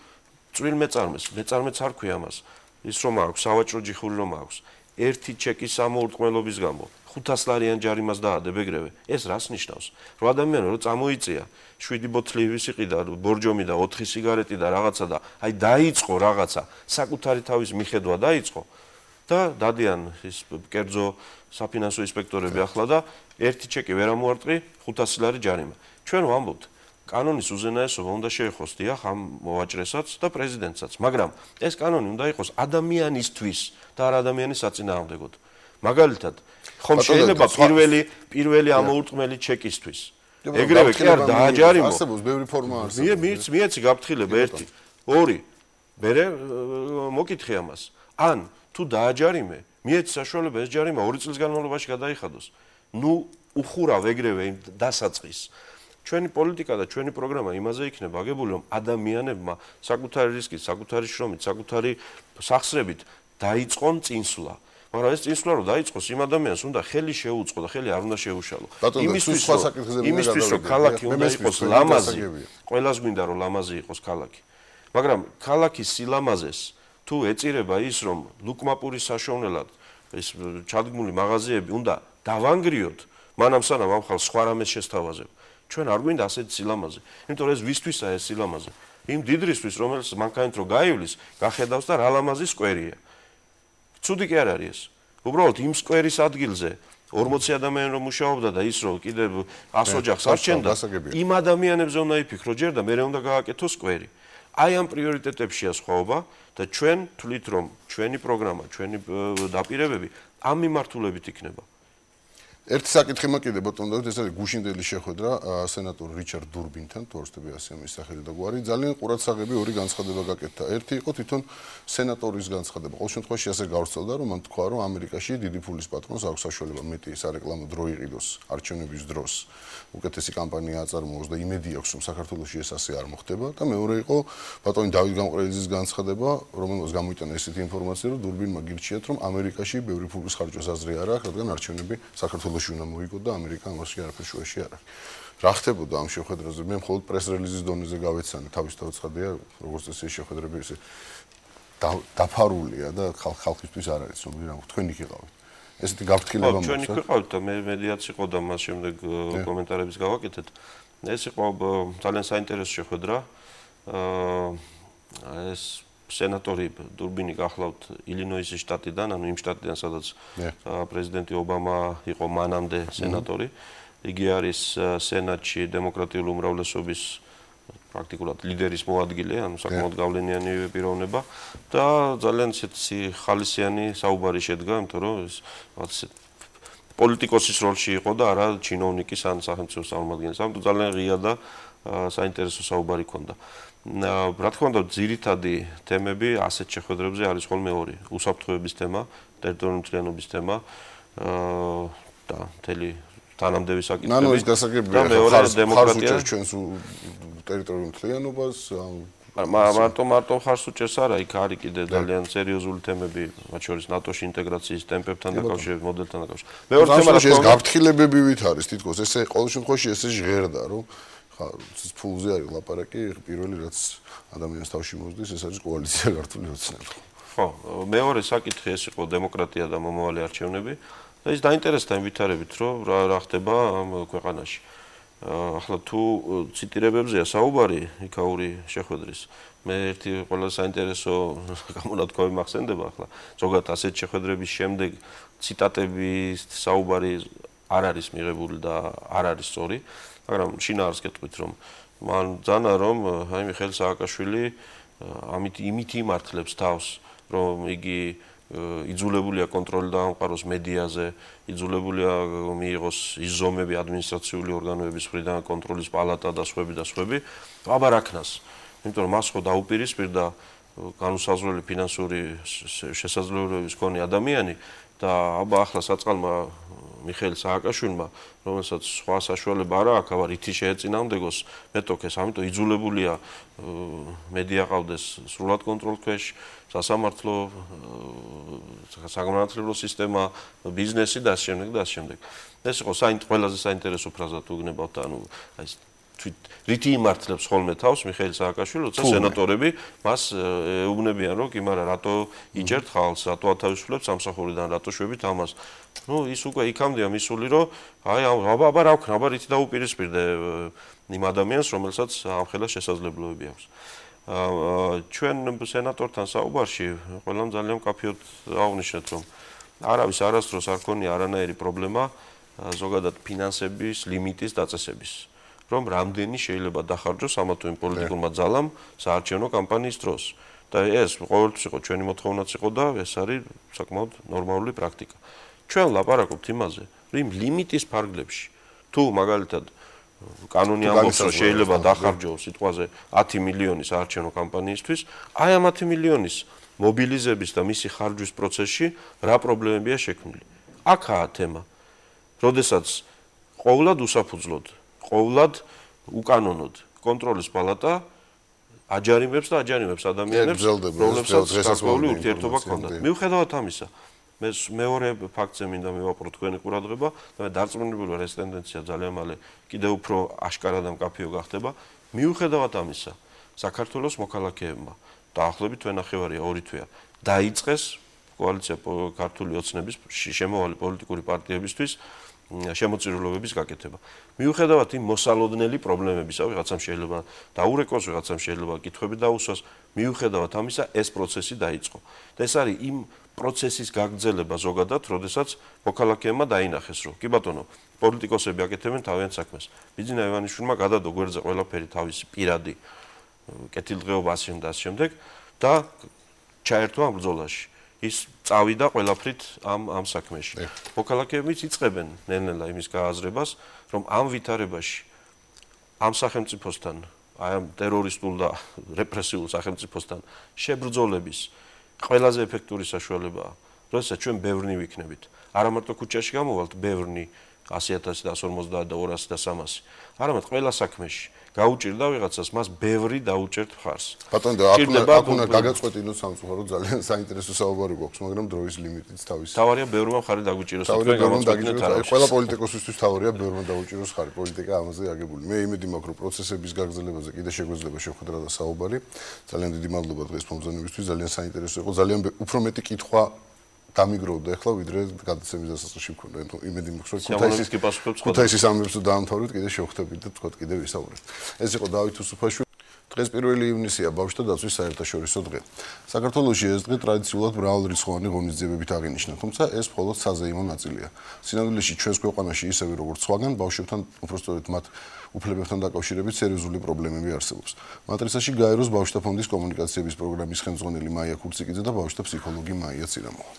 წვრილ მეწარმეც არ ქვია მას. ის რომ აქვს სავაჭრო ჯიხური რომ აქვს ერთი ჩეკის ამოურტყმელობის გამო 500 ლარიან ჯარიმას დაადებ ეგრევე ეს რას ნიშნავს რომ ადამიანი რომ წამოიწია 7 ბოთლი ვისიყი და ბორჯომი და 4 სიგარეტი და რაღაცა და აი დაიწყო რაღაცა საკუთარი თავის მიხედვა დაიწყო და დადიან ის კერძო საფინანსო ინსპექტორები ახლა და ერთი ჩეკი ვერ ამოარტყი 500 ლარი ჯარიმა ჩვენ ვამბობთ კანონის უზენაესობა უნდა შეეხოს დიახ ამ მოვაჭრესაც და პრეზიდენტსაც, მაგრამ ეს კანონი უნდა იყოს ადამიანისთვის და არ ადამიანის საწინააღმდეგოდ. მაგალითად, ხომ შეიძლება პირველი ამოურტყმელი ჩეკისთვის. ეგრევე კი არ დააჯარიმო. არსებობს ბევრი ფორმა არსებობს. მიეცი გაფრთხილება 1, 2. მერე მოკითხე ამას. ან თუ დააჯარიმე, მიეცი საშუალება ეს ჯარიმა 2 წლის განმავლობაში გადაიხადოს. ნუ უხურავ ეგრევე იმ დასაწყის. ჩვენი პოლიტიკა და ჩვენი პროგრამა იმაზე იქნება აგებული, რომ ადამიანებმა საკუთარი რისკით, საკუთარი შრომით, საკუთარი სახსრებით დაიწყონ წინსვლა. მაგრამ ეს წინსვლა რომ დაიწყოს, იმ ადამიანს უნდა ხელი შეუწყო და ხელი არ უნდა შეუშალო. იმისთვის რომ ქალაქი უნდა იყოს ლამაზი, ყველას გვინდა რომ ლამაზი იყოს ქალაქი. მაგრამ ქალაქის სილამაზეს თუ ეწირება ის, რომ ლუკმაპურის საშოვნელად ეს ჩადგმული მაღაზიები უნდა დავანგრიოთ, მანამ სანამ ამ ხალხს სხვა რამეს შესთავაზებ. ჩვენ არ გვინდა ასეთი სილამაზე. იმიტომ რომ ეს ვისთვისაა ეს სილამაზე. იმ დიდრისთვის, რომელიც მანქანით რო გაივლის, გახედავს და რა ლამაზი სკვერია. ცუდი კი არ არის ეს. უბრალოდ იმ სკვერის ადგილზე 40 ადამიანი რომ მუშაობდა და ის რომ კიდევ 100 ოჯახს არჩენდა, იმ ადამიანებზე უნდა იფიქრო ჯერ და მერე უნდა გააკეთოს სკვერი. აი ამ პრიორიტეტებშია სხვაობა და ჩვენ თვლით რომ ჩვენი პროგრამა, ჩვენი დაპირებები ამ მიმართულებით იქნება. ერთი საკითხი მაქვს კიდე ბატონო დავით, ეს არის გუშინდელი შეხვედრა სენატორ რიჩარდ დურბინთან, თუ არ ვცდები ასე მის სახელი და გვარი. ძალიან ყურადსაღები ორი განცხადება გაკეთდა. ერთი იყო თვითონ სენატორის განცხადება. ყოველ შემთხვევაში ასე გავრცელდა, რომ მან თქვა, რომ ამერიკაში დიდი ფულის პატრონს აქვს საშუალება მეტი სარეკლამო დრო იყიდოს არჩევნების დროს. უკეთესი კამპანია აწარმოოს და იმედი აქვს, რომ საქართველოში ეს ასე არ მოხდება და მეორე იყო ბატონი დავით გამყრელიძის განცხადება, რომელმაც გამოიტანა ესეთი ინფორმაცია, რომ დურბინმა გირჩიათ, რომ ამერიკაში ბევრი ფულის ხარჯვას აზრი არ აქვს, რადგან არჩევნები საქართველოში უნდა მოიგო და ამერიკა ამაში არაფერ შუაში არ არის. რა ხდებოდა ამ შეხვედრაზე? მე მხოლოდ პრეს-რელიზის დონეზე გავეცანე, თავის დაუცხადია, როგორც წესი შეხვედრები ესე დაფარულია და ხალხისთვის არ არის ცნობილი რა. თქვენ იქ იყავით. ესეთი გაფრთხილება მოხდა. ჩვენ იქ ვიყავით და მე მედიაც იყო და მას შემდეგ კომენტარებს გავაკეთეთ. ეს იყო ძალიან საინტერესო შეხვედრა. ეს სენატორი დურბინი გახლავთ ილინოისის შტატიდან, ანუ იმ შტატიდან, სადაც პრეზიდენტი ობამა იყო მანამდე სენატორი. იგი არის სენატში დემოკრატიული უმრავლესობის პრაქტიკულად ლიდერის მოადგილე, ანუ საკმაოდ გავლენიანი პიროვნება და ძალიან ისეთი ხალისიანი საუბარი შედგა, იმიტომ რომ ეს პოლიტიკოსის როლში იყო და არა ჩინოვნიკის ან სახელმწიფო წარმომადგენლის. ამიტომ ძალიან ღია და საინტერესო საუბარი ჰქონდა. რა თქმა უნდა, ძირითადი თემები ასეთ შეხვედრებზე არის ხოლმე ორი: უსაფრთხოების თემა, ტერიტორიული მთლიანობის თემა და მთელი თანამდებობის საკითხები. ნანო ის გასაგებია, ხარს უჭერს ჩვენს ტერიტორიულ მთლიანობას. მარტო ხარს უჭერს არა, იქ არის კიდე ძალიან სერიოზული თემები, მათ შორის ნატოში ინტეგრაციის ტემპებთან დაკავშირებით, მოდელთან დაკავშირებით. მეორე თემა ეს გაფრთხილებებივით არის თითქოს, ესე ყოველ შემთხვევაში ესე ჟღერდა, რომ ფულზე არის ლაპარაკი, პირველი რაც ადამიანს თავში მოსდის, ეს არის კოალიცია ქართული ოცნები. ხო, მეორე საკითხი ეს იყო დემოკრატია და მომავალი არჩევნები და ის დაინტერესდა იმ ვითარებით, რომ რა ხდება ამ ქვეყანაში. ახლა თუ ციტირებებზეა საუბარი იქაური შეხვედრის, მე ერთი ყველა საინტერესო გამონათქვამი მახსენდება ახლა. ზოგადად ასეთ შეხვედრების შემდეგ ციტატების საუბარი არ არის მიღებული და არ არის სწორი. მაგრამ შინაარს გეტყვით, რომ მან ძანა, რომ აი მიხეილ სააკაშვილი იმით იმართლებს თავს, რომ იგი იძულებულია კონტროლი დაამყაროს მედიაზე, იძულებულია მიიღოს იზომები ადმინისტრაციული ორგანოების მხრიდან, კონტროლის პალატა და სხვები და სხვები, აბა რა ქნას. იმიტომ რომ მას ხო დაუპირისპირდა განუსაზღვრელი ფინანსური შესაძლებლობების მქონე ადამიანი და აბა ახლა საწყალმა მიხეილ სააკაშვილმა, რომელსაც სხვა საშუალება არ აქვს, აბა რითი შეეწინააღმდეგოს მეტოქეს, ამიტომ იძულებულია მედია ყავდეს სრულად კონტროლ ქვეშ, სასამართლო, საგანმანათლებლო სისტემა, ბიზნესი და ასე შემდეგ და ასე შემდეგ. ეს იყო ყველაზე საინტერესო ფრაზა თუ გნებავთ, ანუ აი რითი იმართლებს ხოლმე თავს მიხეილ სააკაშვილი, როცა სენატორები მას ეუბნებიან, რომ კი მაგრამ რატო იჯერთ ხალხს, რატო ათავისუფლებს სამსახურიდან, რატო შვებით ამას. ნუ ის უკვე იქამდეა მისული, რომ აი აბა რა ვქნა, აბა რითი დაუპირისპირდე იმ ადამიანს, რომელსაც ამხელა შესაძლებლობები აქვს. ჩვენ სენატორთან საუბარში ყველამ ძალიან მკაფიოდ აღვნიშნეთ, რომ არავის არასდროს არ ქონია არანაირი პრობლემა ზოგადად ფინანსების ლიმიტის დაწესების. რომ რამდენი შეიძლება დახარჯოს ამა თუ იმ პოლიტიკურმა ძალამ საარჩევნო კამპანიის დროს. და ეს ყოველთვის იყო ჩვენი მოთხოვნაც იყო და ეს არის საკმაოდ ნორმალური პრაქტიკა. ჩვენ ლაპარაკობთ იმაზე, რომ ლიმიტის ფარგლებში თუ მაგალითად კანონი ამბობს, რომ შეიძლება დახარჯოს სიტყვაზე 10 მილიონი საარჩევნო კამპანიისთვის, აი ამ 10 მილიონის მობილიზების და მისი ხარჯვის პროცესში რა პრობლემებია შექმნილი. აქაა თემა. როდესაც ყოვლად უსაფუძვლოდ ყოვლად უკანონოდ კონტროლის პალატა აჯარიმებს ადამიანებს, რომლებსაც გარკვეული ურთიერთობა ჰქონდათ. მიუხედავად ამისა, მე მეორე ფაქტზე მინდა მივაყურო თქვენი ყურადღება და მე დარწმუნებული ვარ, ეს ტენდენცია ძალიან მალე კიდევ უფრო აშკარა და მკაფიო გახდება. მიუხედავად ამისა, საქართველოს მოქალაქეებმა დაახლოებით თვენახევარია 2 თვეა დაიწყეს კოალიცია ქართული ოცნების შემავალი პოლიტიკური პარტიებისთვის შემოწირულობების გაკეთება. მიუხედავად იმ მოსალოდნელი პრობლემებისა, ვიღაცამ შეიძლება დაურეკოს, ვიღაცამ შეიძლება კითხვები დაუსვას, მიუხედავად ამისა ეს პროცესი დაიწყო. და ეს არის იმ პროცესის გაგრძელება ზოგადად, როდესაც მოქალაქეებმა დაინახეს, რომ კი ბატონო, პოლიტიკოსები აკეთებენ თავიანთ საქმეს. ბიძინა ივანიშვილმა გადადო გვერდზე ყველაფერი თავისი პირადი კეთილდღეობა ასე და ამ შემდეგ და ჩაერთვა ამ ბრძოლაში. ის წავიდა ყველაფრით ამ საქმეში. მოქალაქეებიც იწყებენ ნელ-ნელა იმის გააზრებას, რომ ამ ვითარებაში ამ სახელმწიფოსთან, აი ამ ტერორისტულ და რეპრესიულ სახელმწიფოსთან შებრძოლების ყველაზე ეფექტური საშუალებაა, როდესაც ჩვენ ბევრნი ვიქნებით. არა მარტო ქუჩაში გამოვალთ ბევრნი 100,000 და 150 და 200 და 300. არამედ ყველა საქმეში გაუჭირდა ვიღაცას, მას ბევრი დაუჭერთ მხარს. ბატონო, აქ უნდა გაგაწყვეტინოთ სამწუხაროდ ძალიან საინტერესო საუბარი გვაქვს, მაგრამ დროის ლიმიტიც თავის. თავარია ბევრმა მხარი დაგვიჭიროს. ყველა პოლიტიკოსისთვის თავარია ბევრმა დაუჭიროს მხარი. პოლიტიკა ამაზე აგებული. მე იმედი მაქვს, რომ პროცესების გაგრძელებაზე კიდე შეგვეძლება შევხვდრა და საუბარი. ძალიან დიდი მადლობა დღეს მომზადებისთვის, ძალიან საინტერესო იყო. ძალიან უფრო მეტი კითხვა დამიგროვდა ახლა ვიდრე გადაცემის დასაწყისში მქონდა. იმედი მაქვს, რომ ქუთაისის ამბებს დაამთავრეთ, კიდე შევხვდებით და თქვათ კიდე ვისაუბრებთ. ეს იყო დავით უსუფაშვილი. დღეს 1 ივნისია ბავშვთა დაცვის საერთაშორისო დღე. საქართველოში ეს დღე ტრადიციულად მრავალრიცხოვანი ღონისძიებებით აღინიშნა, თუმცა ეს მხოლოდ საზეიმო ნაწილია. სინამდვილეში ჩვენს ქვეყანაში ისევე როგორც სხვაგან ბავშვებთან, უпростоრეთ მათ უფლებებთან დაკავშირებით სერიოზული პრობლემები არსებობს. მატრიცაში გაეროს ბავშვთა ფონდის კომუნიკაციების პროგრამის ხელმძღვანელი მაია ქურციკიძე და ბავშვთა ფსიქოლოგი მაია ცირამოვა.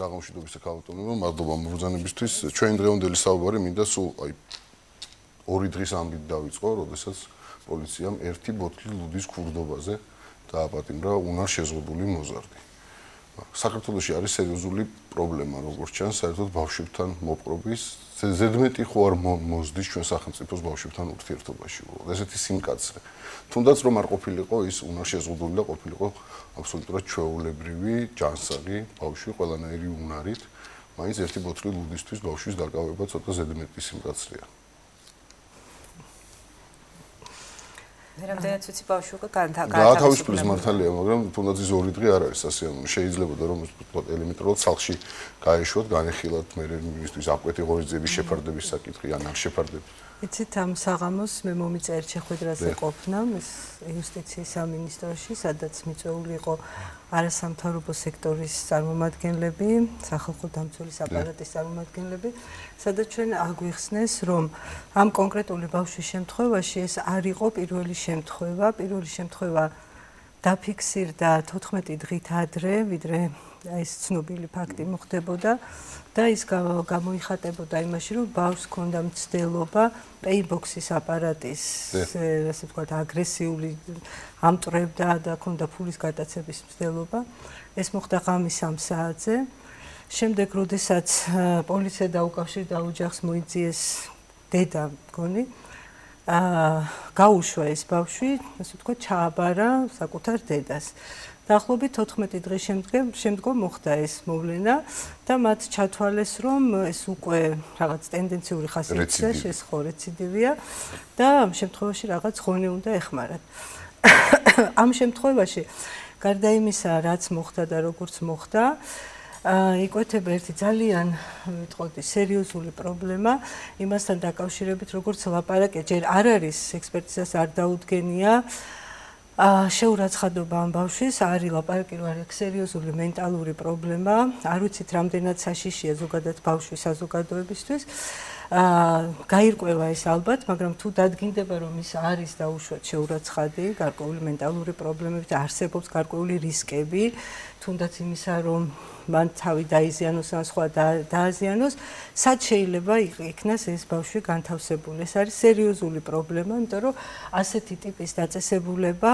საღამოშიდობის ქალბატონებმა მადლობა მობრძანებისთვის. ჩვენი დღევანდელი საუბარი მინდა სულ აი 2 დღის ამბით დავიწყო, როდესაც პოლიციამ 1 ბოთლი ლუდის ქურდობაზე დააპატიმრა უნარ შეზღუდული მოზარდი. საქართველოში არის სერიოზული პრობლემა, როგორც ჩანს, საერთოდ ბავშვებთან მოპყრობის, ზედმეტი ხო არ მოსდის ჩვენ სახელმწიფოს ბავშვებთან ურთიერთობაში. ესეთი სიმკაცრე. თუნდაც რომ არ ყოფილიყო ის უნარ შეზღუდული და ყოფილიყო აბსოლუტურად ჩვეულებრივი ჯანსაღი ბავშვი ყველანაირი უნარით, მაინც 1 ბოთლი ლუდისთვის ბავშვის დაკავება ცოტა ზედმეტი სიმკაცრეა. რამდენად ვიცი ბავშვი უკვე გაათავისუფლეს მართალია, მაგრამ თუნდაც ის 2 დღე არ არის სასიამოვნო. შეიძლება რომ ვთქვათ ელემენტარულად სახლში გაეშვათ, განეხილათ მე იმისთვის აკეთე ღონისძიების შეფარდების საკითხი ან არ შეფარდებით. იცით ამ საღამოს მე მომიწერეთ შეხვედრაზე ყოფნა იუსტიციის სამინისტროში, სადაც მიწვეული იყო არასამთავრობო სექტორის წარმომადგენლები, სახალხო დამცველის აპარატის წარმომადგენლები, სადაც ჩვენ აგვიხსნეს, რომ ამ კონკრეტული ბავშვის შემთხვევაში ეს არ იყო პირველი შემთხვევა. პირველი შემთხვევა დაფიქსირდა 14 დღით ადრე, ვიდრე ეს ცნობილი ფაქტი მოხდებოდა და ის გამოიხატებოდა იმაში, რომ ბავშვს ჰქონდა მცდელობა პეიბოქსის აპარატის, ასე ვთქვათ, აგრესიული ამტვრევდა და ჰქონდა ფულის გატაცების მცდელობა. ეს მოხდა ღამის 3 საათზე. შემდეგ, როდესაც პოლიცია დაუკავშირდა ოჯახს, მოიძიეს დედა მგონი, გაუშვა ეს ბავშვი, ასე ვთქვათ, ჩააბარა საკუთარ დედას. დაახლოებით 14 დღის შემდგომ მოხდა ეს მოვლენა და მათ ჩათვალეს, რომ ეს უკვე რაღაც ტენდენციური ხასიათია, რეციდივია და ამ შემთხვევაში რაღაც ღონე უნდა ეხმარათ. ამ შემთხვევაში გარდა იმისა, რაც მოხდა და როგორც მოხდა, იკვეთება ერთი ძალიან ვიტყოდი სერიოზული პრობლემა იმასთან დაკავშირებით, როგორც ლაპარაკია, ჯერ არ არის ექსპერტიზას არ დაუდგენია შეურაცხადობა ამ ბავშვის, არის ლაპარაკი, რომ არის სერიოზული მენტალური პრობლემა, არ ვიცით რამდენად საშიშია ზოგადად ბავშვის საზოგადოებისთვის. გაირკვევა ეს ალბათ, მაგრამ თუ დადგინდება, რომ ის არის დაუშვათ შეურაცხადი, გარკვეული მენტალური პრობლემებით, არსებობს გარკვეული რისკები, თუნდაც იმისა, რომ მან თავი დაიზიანოს ან სხვა დააზიანოს, სად შეიძლება იქნას ეს ბავშვი განთავსებული. ეს არის სერიოზული პრობლემა, იმიტომ რომ ასეთი ტიპის დაწესებულება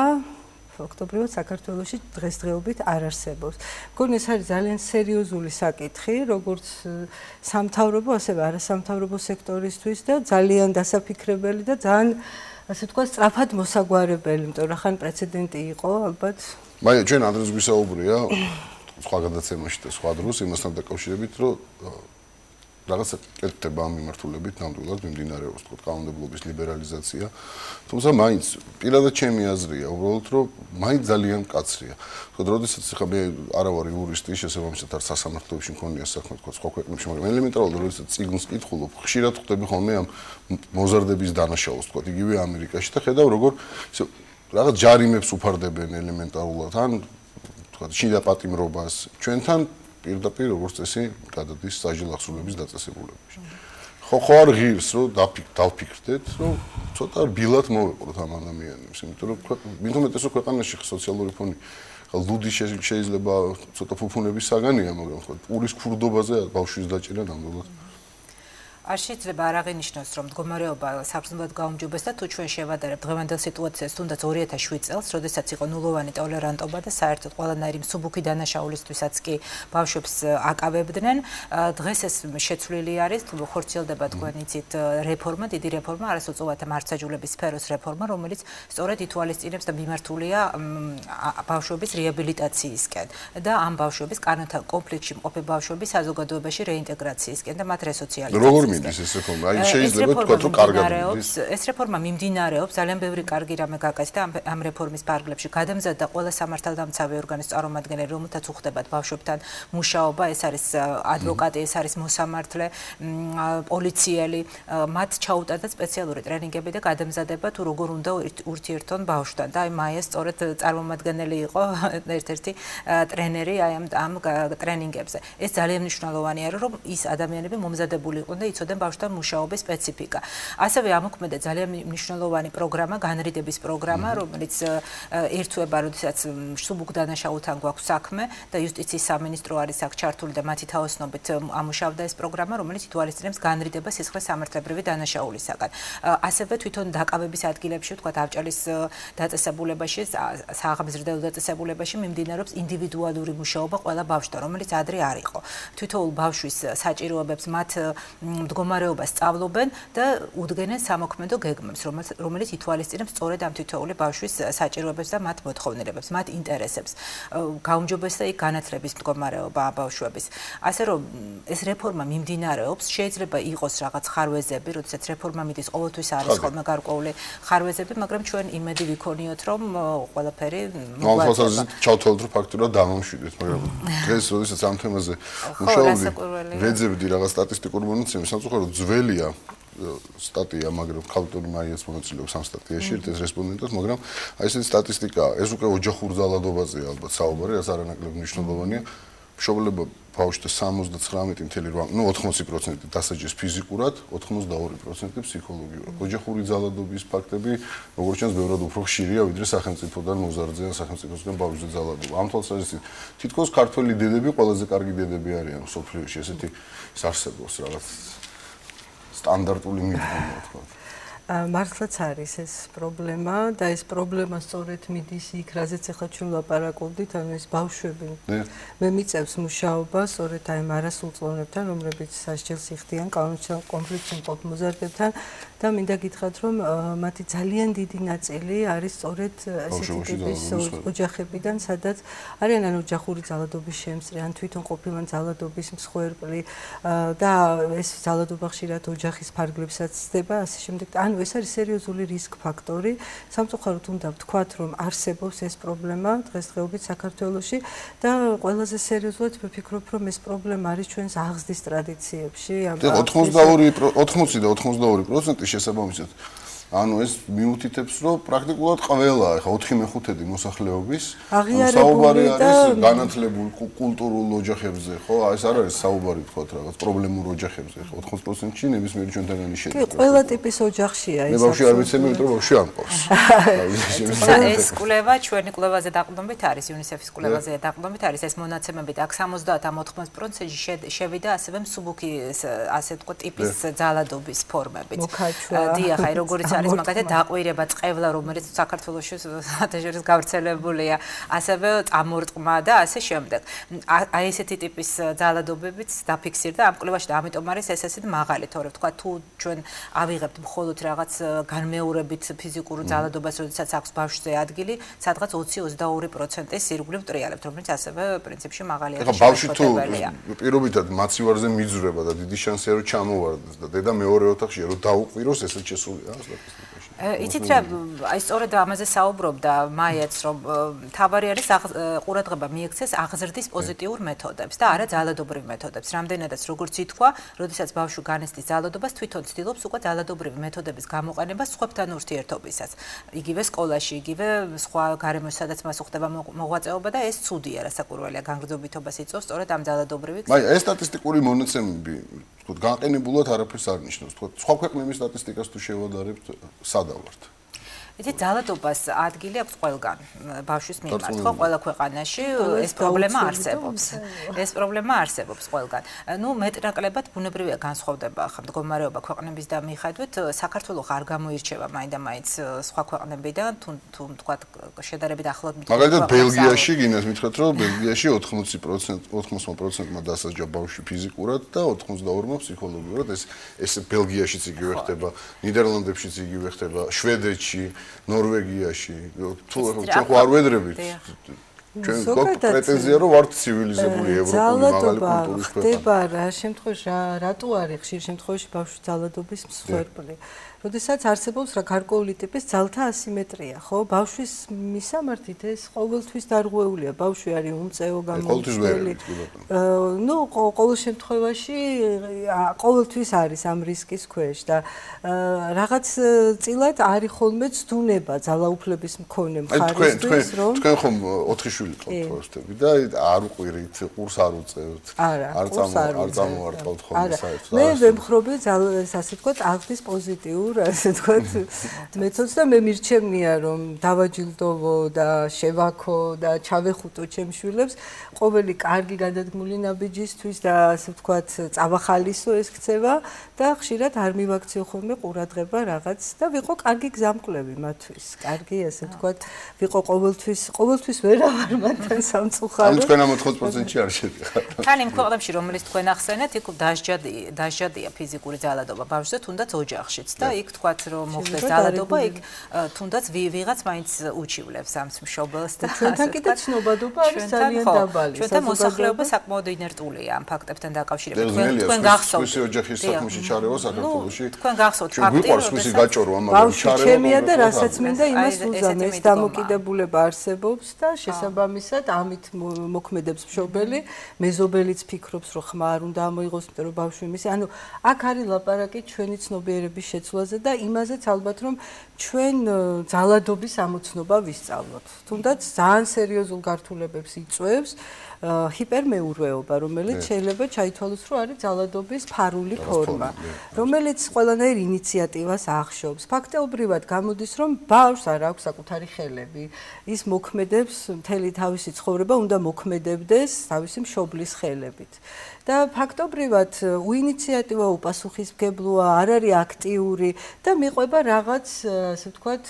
ფაქტობრივად საქართველოში დღესდღეობით არ არსებობს. მგონი ეს არის ძალიან სერიოზული საკითხი, როგორც სამთავრობო, ასევე არასამთავრობო სექტორისთვის და ძალიან დასაფიქრებელი და ძალიან, ასე ვთქვათ, სწრაფად მოსაგვარებელი, იმიტომ რომ ხან პრეცედენტი იყო, ალბათ. მაია, ჩვენ ადრეს გვისაუბრია სხვა გადაცემაში და სხვა დროს იმასთან დაკავშირებით, რომ რაღაცა კეთდება ამ მიმართულებით ნამდვილად მიმდინარეობს, თქო, კანონმდებლობის ლიბერალიზაცია. თუმცა მაინც პირადად ჩემი აზრია, უბრალოდ რომ მაინც ძალიან მკაცრია. თქო, როდესაც ხა მე არა ვარ იურისტი, შესაბამისად არ სასამართლოებში მქონია საქმე, თქო, სხვა ქვეყნებში, მაგრამ ელემენტარულად როდესაც წიგნს კითხულობ, ხშირად ხვდები ხოლმე ამ მოზარდების დანაშაულს, თქო, იგივე ამერიკაში და ხედავ როგორ რაღაც ჯარიმებს უფარდებენ ელემენტარულად, ან თქო, შიდა პატიმრობას ჩვენთან პირდაპირ როგორც წესი გადადის საჯარო ახსნების დაწესებულებაში. ხო არ ღირს რომ დავფიქრდეთ რომ ცოტა ბილად მოვეყროთ ამ ადამიანებს იმიტომ რომ მithumetes რომ ქვეყანაში სოციალური ფონი ლუდი შეიძლება ცოტა ფუფუნების საგანია მაგრამ ხო პურის ქურდობაზე ბავშვის დაჭერა ნამდვილად არ შეიძლება არ აღინიშნოს რომ მდგომარეობა საფრთხებად გაუმჯობესდა და თუ ჩვენ შევადარებთ დღევანდელ სიტუაციას თუნდაც 2007 წელს, როდესაც იყო ნულოვანი ტოლერანტობა და საერთოდ ყველანაირი მსუბუქი დანაშაულისთვისაც კი ბავშვებს აკავებდნენ, დღეს ეს შეცვლილი არის, ხორციელდება თქვენ იცით რეფორმა, დიდი რეფორმა, არასოწოვათა მართლმსაჯულების სფეროს რეფორმა, რომელიც სწორედ ითვალისწინებს და მიმართულია ბავშვების რეაბილიტაციისკენ და ამ ბავშვების კანონთან კონფლიქტში მყოფი ბავშვების საზოგადოებაში რეინტეგრაციისკენ და მათ რესოციალიზაციისკენ. ეს რეფორმა, აი შეიძლება თქვა რომ კარგად მიდის. ეს რეფორმა მიმდინარეობს, ძალიან ბევრი კარგი რამე გაკეთდა ამ რეფორმის ფარგლებში. გადამზადდა ყველა სამართალდამცავი ორგანოს წარმომადგენელი, რომელთაც უხდებათ ბავშვებთან მუშაობა, ეს არის ადვოკატი, ეს არის მოსამართლე, პოლიციელი, მათ ჩაუტარდა სპეციალური ტრენინგები და გადამზადება თუ როგორ უნდა ურთიერთონ ბავშვთან. და აი მაია სწორედ წარმომადგენელი იყო ერთ-ერთი ტრენერი აი ამ ტრენინგებზე. ეს ძალიან მნიშვნელოვანია, რომ ის ადამიანები მომზადებული იყვნენ და იცოდნენ ბავშვთან მუშაობის სპეციფიკა. ასევე ამოქმედა ძალიან მნიშვნელოვანი პროგრამა, განრიდების პროგრამა, რომელიც ერთვება, როდესაც მსუბუქ დანაშაულთან გვაქვს საქმე და იუსტიციის სამინისტრო არის აქ ჩართული და მათი თაოსნობით ამუშავდა ეს პროგრამა, რომელიც ითვალისწინებს განრიდებას სისხლის სამართლებრივი დანაშაულისაგან. ასევე თვითონ დაკავების ადგილებში, თქვა ავჭალის დაწესებულებაში, სააღამზრდელო დაწესებულებაში მიმდინარეობს ინდივიდუალური მუშაობა ყველა ბავშვთან, რომელიც ადრე არ იყო. თითოეულ ბავშვის საჭიროებებს მათ მდგომარეობას სწავლობენ და უდგენენ სამოქმედო გეგმებს, რომელიც ითვალისწინებს სწორედ ამ თითოეული ბავშვის საჭიროებებს და მათ მოთხოვნილებებს, მათ ინტერესებს. გაუმჯობესდა იქ განათლების მდგომარეობა ბავშვების. ასე რომ ეს რეფორმა მიმდინარეობს, შეიძლება იყოს რაღაც ხარვეზები, როდესაც რეფორმა მიდის, ყოველთვის არის ხოლმე გარკვეული ხარვეზები, მაგრამ ჩვენ იმედი ვიქონიოთ, რომ ყველაფერი მოგვაწევს. ჩავთვალოთ, რომ ფაქტურად დამამშვიდეთ, მაგრამ დღეს როდესაც ამ თემაზე მუშაობდი, ვეძებდი რაღაც სტატისტიკურ მონაცემებს, სამწუხაროდ ძველია სტატია, მაგრამ ქალტური მაიას მონაწილეობს ამ სტატიაში, ეს რესპონდენტად, მაგრამ აი ესეთი სტატისტიკაა, ეს უკვე ოჯახურ ძალადობაზეა ალბათ საუბარი, რაც არანაკლებ მნიშვნელოვანია. მშობლება ბავშვთა 79.8, ну 80% დასაჯეს ფიზიკურად, 82% ფსიქოლოგიურად. ოჯახური ძალადობის ფაქტები, როგორც ჩანს, ბევრად უფრო ხშირია, ვიდრე სახელმწიფოდან მოზარდზე ან სახელმწიფოსგან ბავშვზე ძალადობა. ამ თვალსაზრისით, თითქოს ქართველი დედები ყველაზე კარგი დედები არიან სოფლიოში, ესეთი არსებობს რაღაც სტანდარტული მიდგომა, თქვა. მართლაც არის ეს პრობლემა და ეს პრობლემა სწორედ მიდის იქ, რაზეც ახლა ჩვენ ვლაპარაკობდით, ანუ ეს ბავშვები. მე მიწევს მუშაობა სწორედ აი ამ არასრულწლოვანებთან, რომლებიც სასჯელს იხდიან კანონთან კონფლიქტში მყოფ მოზარდებთან და მინდა გითხრათ, რომ მათი ძალიან დიდი ნაწილი არის სწორედ ესეთი ტიპის ოჯახებიდან, სადაც არიან ან ოჯახური ძალადობის შემსწრე, ან თვითონ ყოფილან ძალადობის მსხვერპლი და ეს ძალადობა ხშირად ოჯახის ფარგლებსაც ხდება, ასე შემდეგ. ანუ ეს არის სერიოზული რისკ ფაქტორი. სამწუხაროდ უნდა ვთქვათ, რომ არსებობს ეს პრობლემა დღესდღეობით საქართველოში და ყველაზე სერიოზულად ვფიქრობ, რომ ეს პრობლემა არის ჩვენს აღზრდის ტრადიციებში. 80 და 82% შესაბამისად. ანუ ეს მიუთითებს, რომ პრაქტიკულად ყველა, ეხა 4/5 მოსახლეობის საუბარი არის განათლებულ კულტურულ ოჯახებზე, ხო? ეს არ არის საუბარი თქვათ რაღაც პრობლემურ ოჯახებზე, ხო? 80%-ში ნებისმიერი ჩვენთაგანი შედის. კი, ყველა ტიპის ოჯახია ეს. მე ბავშვი არ ვიცემი, იმიტომ რომ ბავშვი არ მყავს. ეს კვლევა ჩვენი კვლევაზე დაყრდნობით არის, UNICEF-ის კვლევაზე დაყრდნობით არის ეს მონაცემები და აქ 70-80%-ში შევიდა ასევე მსუბუქი, ასე ვთქვათ, ტიპის ძალადობის ფორმებიც. დიახ, აი როგორც არის მაგათი დაყვირება, წყევლა, რომელიც საქართველოში საერთაშორისო გავრცელებულია, ასევე წამორტყმა და ასე შემდეგ. აი ესეთი ტიპის ძალადობებიც დაფიქსირდა ამ კვლევაში და ამიტომ არის ეს ესეთი მაღალი, თორე ვთქვა, თუ ჩვენ ავიღებთ მხოლოდ რაღაც განმეორებით ფიზიკურ ძალადობას, როდესაც აქვს ბავშვზე ადგილი, სადღაც 20-22% ირგვლივ ტრიალებთ, რომელიც ასევე პრინციპში მაღალია. ეხლა ბავშვი თუ პირობითად მაცივარზე მიძვრება და დიდი შანსია რომ ჩამოვარდეს და დედა მეორე ოთახშია რომ დაუყვიროს, ესეც შესულია სტატისტიკაში. იცით რა, აი სწორედ ამაზე საუბრობდა მაიაც, რომ თავარი არის ყურადღება მიექცეს აღზრდის პოზიტიურ მეთოდებს და არა ძალადობრივ მეთოდებს. რამდენადაც როგორც ითქვა, როდესაც ბავშვი განიცდის ძალადობას, თვითონ ცდილობს უკვე ძალადობრივი მეთოდების გამოყენებას სხვებთან ურთიერთობისას. იგივე სკოლაში, იგივე სხვა გარემოში, სადაც მას უხდება მოღვაწეობა და ეს ცუდია, რასაკვირველია, განგრძობითობას იწვევს სწორედ ამ ძალადობრივი. აი, ეს სტატისტიკური მონაცემები ვთქვათ, განყენებულად არაფერს არ ნიშნავს. ვთქვათ, სხვა ქვეყნების სტატისტიკას თუ შევადარებთ, სადავართ. იცი ძალადობას ადგილი აქვს ყველგან ბავშვის მიმართ ხო ყველა ქვეყანაში ეს პრობლემა არსებობს ეს პრობლემა არსებობს ყველგან ნუ მეტნაკლებად ბუნებრივია განსხვავდება ხა მდგომარეობა ქვეყნების და მიხედვით საქართველოს არ გამოირჩევა მაინდა-მაინც სხვა ქვეყნებიდან თუ თქვა შედარებით ახლად მითხრა მაგალითად ბელგიაში გინდათ მითხრათ რომ ბელგიაში 80%-მა დასაჯა ბავშვი ფიზიკურად და 82%-მა ფსიქოლოგიურად ეს ბელგიაშიც იგივე ხდება ნიდერლანდებშიც იგივე ხდება შვედეთში ნორვეგიაში თუ ჩვენ ხო არ ვედრებით ჩვენ გვაქვს პრეტენზია რომ ვართ ცივილიზებული ევროპული მაღალი კულტურის ქვეყანა ხდება რა შემთხვევაში რატო არის ხშირ შემთხვევაში ბავშვი ძალადობის მსხვერპლი როდესაც არსებობს რა გარკვეული ტიპის ძალთა ასიმეტრია ხო ბავშვის მისამართით ეს ყოველთვის დარღვეულია ბავშვი არის უმწეო გამოუცვლელი ნუ ყოველ შემთხვევაში ყოველთვის არის ამ რისკის ქვეშ და რაღაც წილად არის ხოლმე ცდუნება ძალაუფლების მქონე მხარისთვის რომ თქვენ ხომ 4 შვილი ყავთ და არ უყვირით ყურს არ უწევთ არ წამოვარტყავთ ხოლმე საერთოდ მე ვემხრობი ასე ვთქვათ აღდის პოზიტიურ ასე ვთქვათ მეთოდს და მე მირჩევნია რომ დავაჯილდოვო და შევაქო და ჩავეხუტო ჩემ შვილებს ყოველი კარგი გადადგმული ნაბიჯისთვის და ასე ვთქვათ წავახალისო ეს ქცევა და ხშირად არ მივაქციო ხოლმე ყურადღება რაღაც და ვიყო კარგი გზამკვლევი მათთვის კარგი ასე ვთქვათ ვიყო ყოველთვის ვერავარ მათთან სამწუხარო ანუ თქვენ ამ 80%-ში არ შედიხართ თან იმ ქვეყნებში რომელიც თქვენ ახსენეთ იქ დასჯადია ფიზიკური ძალადობა ბავშვზე თუნდაც ოჯახშიც და იქ თქვათ რომ მოხდეს ძალადობა იქ თუნდაც ვიღაც მაინც უჩივლებს ამ მშობელს და ჩვენთან კიდე ცნობადობა არის ძალიან დაბალი ჩვენთან მოსახლეობა საკმაოდ ინერტულია ამ ფაქტებთან დაკავშირებით თქვენ გახსოვთ სხვისი ოჯახის საქმეში ჩარევა საქართველოში თქვენ გახსოვთ ფაქტი რომ სხვისი გაჭორვა მაგრამ ჩარევა ჩემია და რასაც მინდა იმას უზამ ეს დამოკიდებულება არსებობს და შესაბამისად ამით მოქმედებს მშობელი მეზობელიც ფიქრობს რომ ხმა არ უნდა ამოიღოს იმიტომ რომ ბავშვი მისი ანუ აქ არის ლაპარაკი ჩვენი ცნობიერების შეცვლაზე და იმაზეც ალბათ რომ ჩვენ ძალადობის ამოცნობა ვისწავლოთ თუნდაც ძალიან სერიოზულ გართულებებს იწვევს ჰიპერმეურვეობა რომელიც შეიძლება ჩაითვალოს რომ არის ძალადობის ფარული ფორმა რომელიც ყველანაირ ინიციატივას ახშობს ფაქტობრივად გამოდის რომ ბავშვს არ აქვს საკუთარი ხელები ის მოქმედებს მთელი თავისი ცხოვრება უნდა მოქმედებდეს თავისი მშობლის ხელებით და ფაქტობრივად უინიციატივა უპასუხისმგებლოა არ არის აქტიური და მიყვება რაღაც ასე ვთქვათ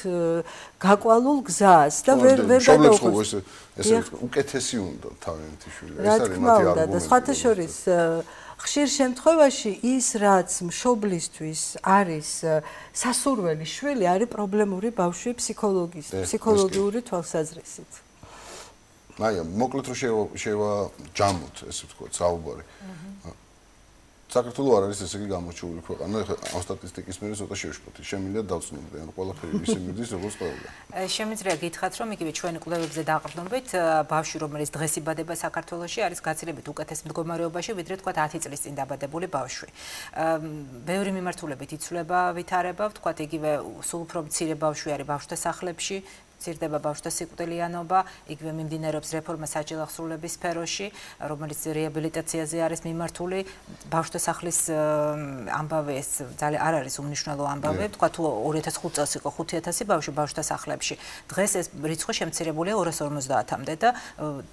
გაკვალულ გზას და ვერ გადაუხოს ესე უკეთესი უნდა თავიანთი შვილი ეს არის მათი არგუმენტი და სხვათა შორის ხშირ შემთხვევაში ის რაც მშობლისთვის არის სასურველი შვილი არის პრობლემური ბავშვი ფსიქოლოგიური თვალსაზრისით მაია მოკლედ რომ შევაჯამოთ ესე ვთქვათ საუბარი საქართველოს არ არის ესე იგი გამოჩვეული ქვეყანა ეხლა ამ სტატისტიკის მიერ ცოტა შევშფოთი შემიძლია დავწნობდე ანუ ყველაფერი ისე მიდის როგორც ყველგან შემიძლია გითხრათ რომ იგივე ჩვენი კვლევებზე დაყრდნობით ბავშვი რომელიც დღეს იბადება საქართველოში არის გაცილებით უკეთეს მდგომარეობაში ვიდრე თქვა 10 წლის წინ დაბადებული ბავშვი ბევრი მიმართულებით იცვლება ვითარება თქვა იგივე სულ უფრო მცირე ბავშვი არის ბავშვთა სახლებში ცირდება ბავშვთა სიკვდილიანობა, იგივე მიმდინარეობს რეფორმა საჯარო აღსრულების სფეროში, რომელიც რეაბილიტაციაზე არის მიმართული. ბავშვთა სახლის ამბავი ეს ძალიან არ არის უმნიშვნელო ამბავი, თქვა თუ 2005 წელს იყო 5000 ბავშვი ბავშვთა სახლებში. დღეს ეს რიცხვი შემცირებულია 250-მდე და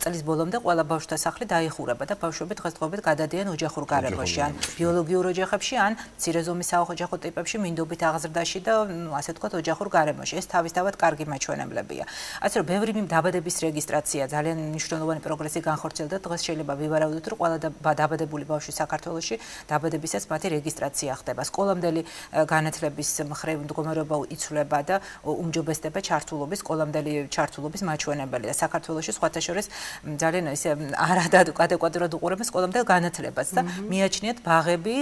წლის ბოლომდე ყველა ბავშვთა სახლი დაიხურება და ბავშვები დღესდღეობით გადადიან ოჯახურ გარემოში, ან ბიოლოგიურ ოჯახებში, ან მცირე ზომის საოჯახო ტიპებში, მინდობით აღზრდაში და ასე ვთქვათ ოჯახურ გარემოში. ეს თავისთავად კარგი მაჩვენებლებია. ასე რომ ბევრი დაბადების რეგისტრაცია ძალიან მნიშვნელოვანი პროგრესი განხორციელდა. დღეს შეიძლება ვივარავდოთ, რომ ყველა დაბადებული ბავშვი საქართველოში დაბადებისას მათი რეგისტრაცია ხდება. სკოლამდელი განათლების მხრივ მდგომარეობა იცვლება და უმჯობესდება ჩართულობის, სკოლამდელი ჩართულობის მაჩვენებელი და საქართველოში სხვათა შორის ძალიან ისე არადადეკვატურად უყურებენ სკოლამდელ განათლებას და მიაჩნიათ ბაღები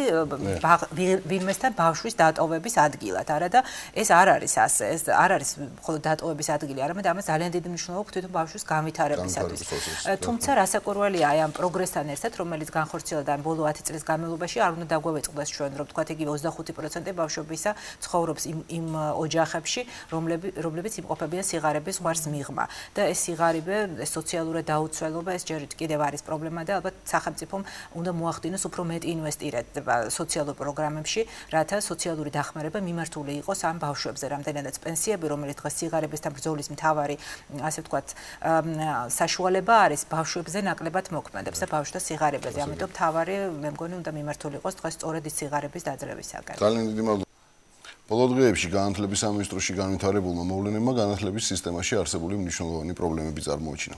ვინმესთან ბავშვის დატოვების ადგილად. არა და ეს არ არის ასე. ეს არ არის მხოლოდ დატოვების ადგილი, არამედ ამას ძალიან დიდი მნიშვნელობა აქვს თვითონ ბავშვის განვითარებისათვის. განვითარების თუმცა რასაკვირველია აი ამ პროგრესთან ერთად, რომელიც განხორციელდა ამ ბოლო 10 წლის განმავლობაში, არ უნდა დაგვეწყდეს ჩვენ, რომ თქვათ იგივე 25% ბავშვებისა ცხოვრობს იმ ოჯახებში, რომლებიც იმყოფებიან სიღარიბის ზღვარს მიღმა. და ეს სიღარიბე, ეს სოციალური დაუცველობა, ეს ჯერ კიდევ არის პრობლემა და ალბათ სახელმწიფომ უნდა მოახდინოს უფრო მეტი ინვესტირება სოციალურ პროგრამებში, რათა სოციალური დახმარება მიმართული იყოს ამ ბავშვებზე, რამდენადაც პენსიები, რომელიც დღეს სიღარიბესთან ბრძოლის მთავარი, ასე ვთქვათ, საშუალება არის ბავშვებზე ნაკლებად მოქმედებს და ბავშვთა სიღარიბეზე. ამიტომ მთავარი, მე მგონი, უნდა მიმართული იყოს დღეს სწორედ ის სიღარიბის დაძლევისაგან. ძალიან დიდი მადლობა. ბოლო დღეებში განათლების სამინისტროში განვითარებულმა მოვლენებმა განათლების სისტემაში არსებული მნიშვნელოვანი პრობლემები წარმოაჩინა.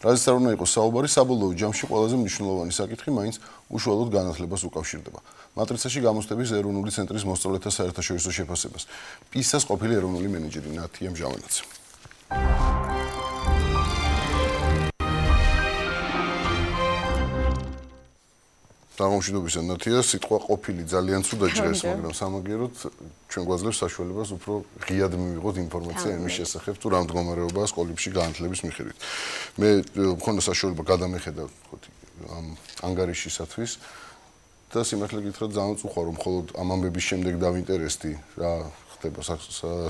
რაზეც არ უნდა იყოს საუბარი, საბოლოო ჯამში ყველაზე მნიშვნელოვანი საკითხი მაინც უშუალოდ განათლებას უკავშირდება. მატრიცაში გამოცდების ეროვნული ცენტრის მოსწავლეთა საერთაშორისო შეფასებას. PISA-ს ყოფილი ეროვნული მენეჯერი ნათია მჟავანაძე. Დაღმოშიდობისა ნათია სიტყვა ყოფილი ძალიან ცუდა ჭრეს, მაგრამ სამაგიეროდ ჩვენ გვაძლევს საშუალებას უფრო ღიად მივიღოთ ინფორმაცია იმის შესახებ, თუ რა მდგომარეობაა სკოლებში განათლების მიხედვით. მე მქონდა საშუალება გადამეხედა ამ ანგარიშისათვის და სიმართლე გითხრათ ძალიან უხარო, მხოლოდ ამ ამბების შემდეგ დავინტერესდი რა ხდება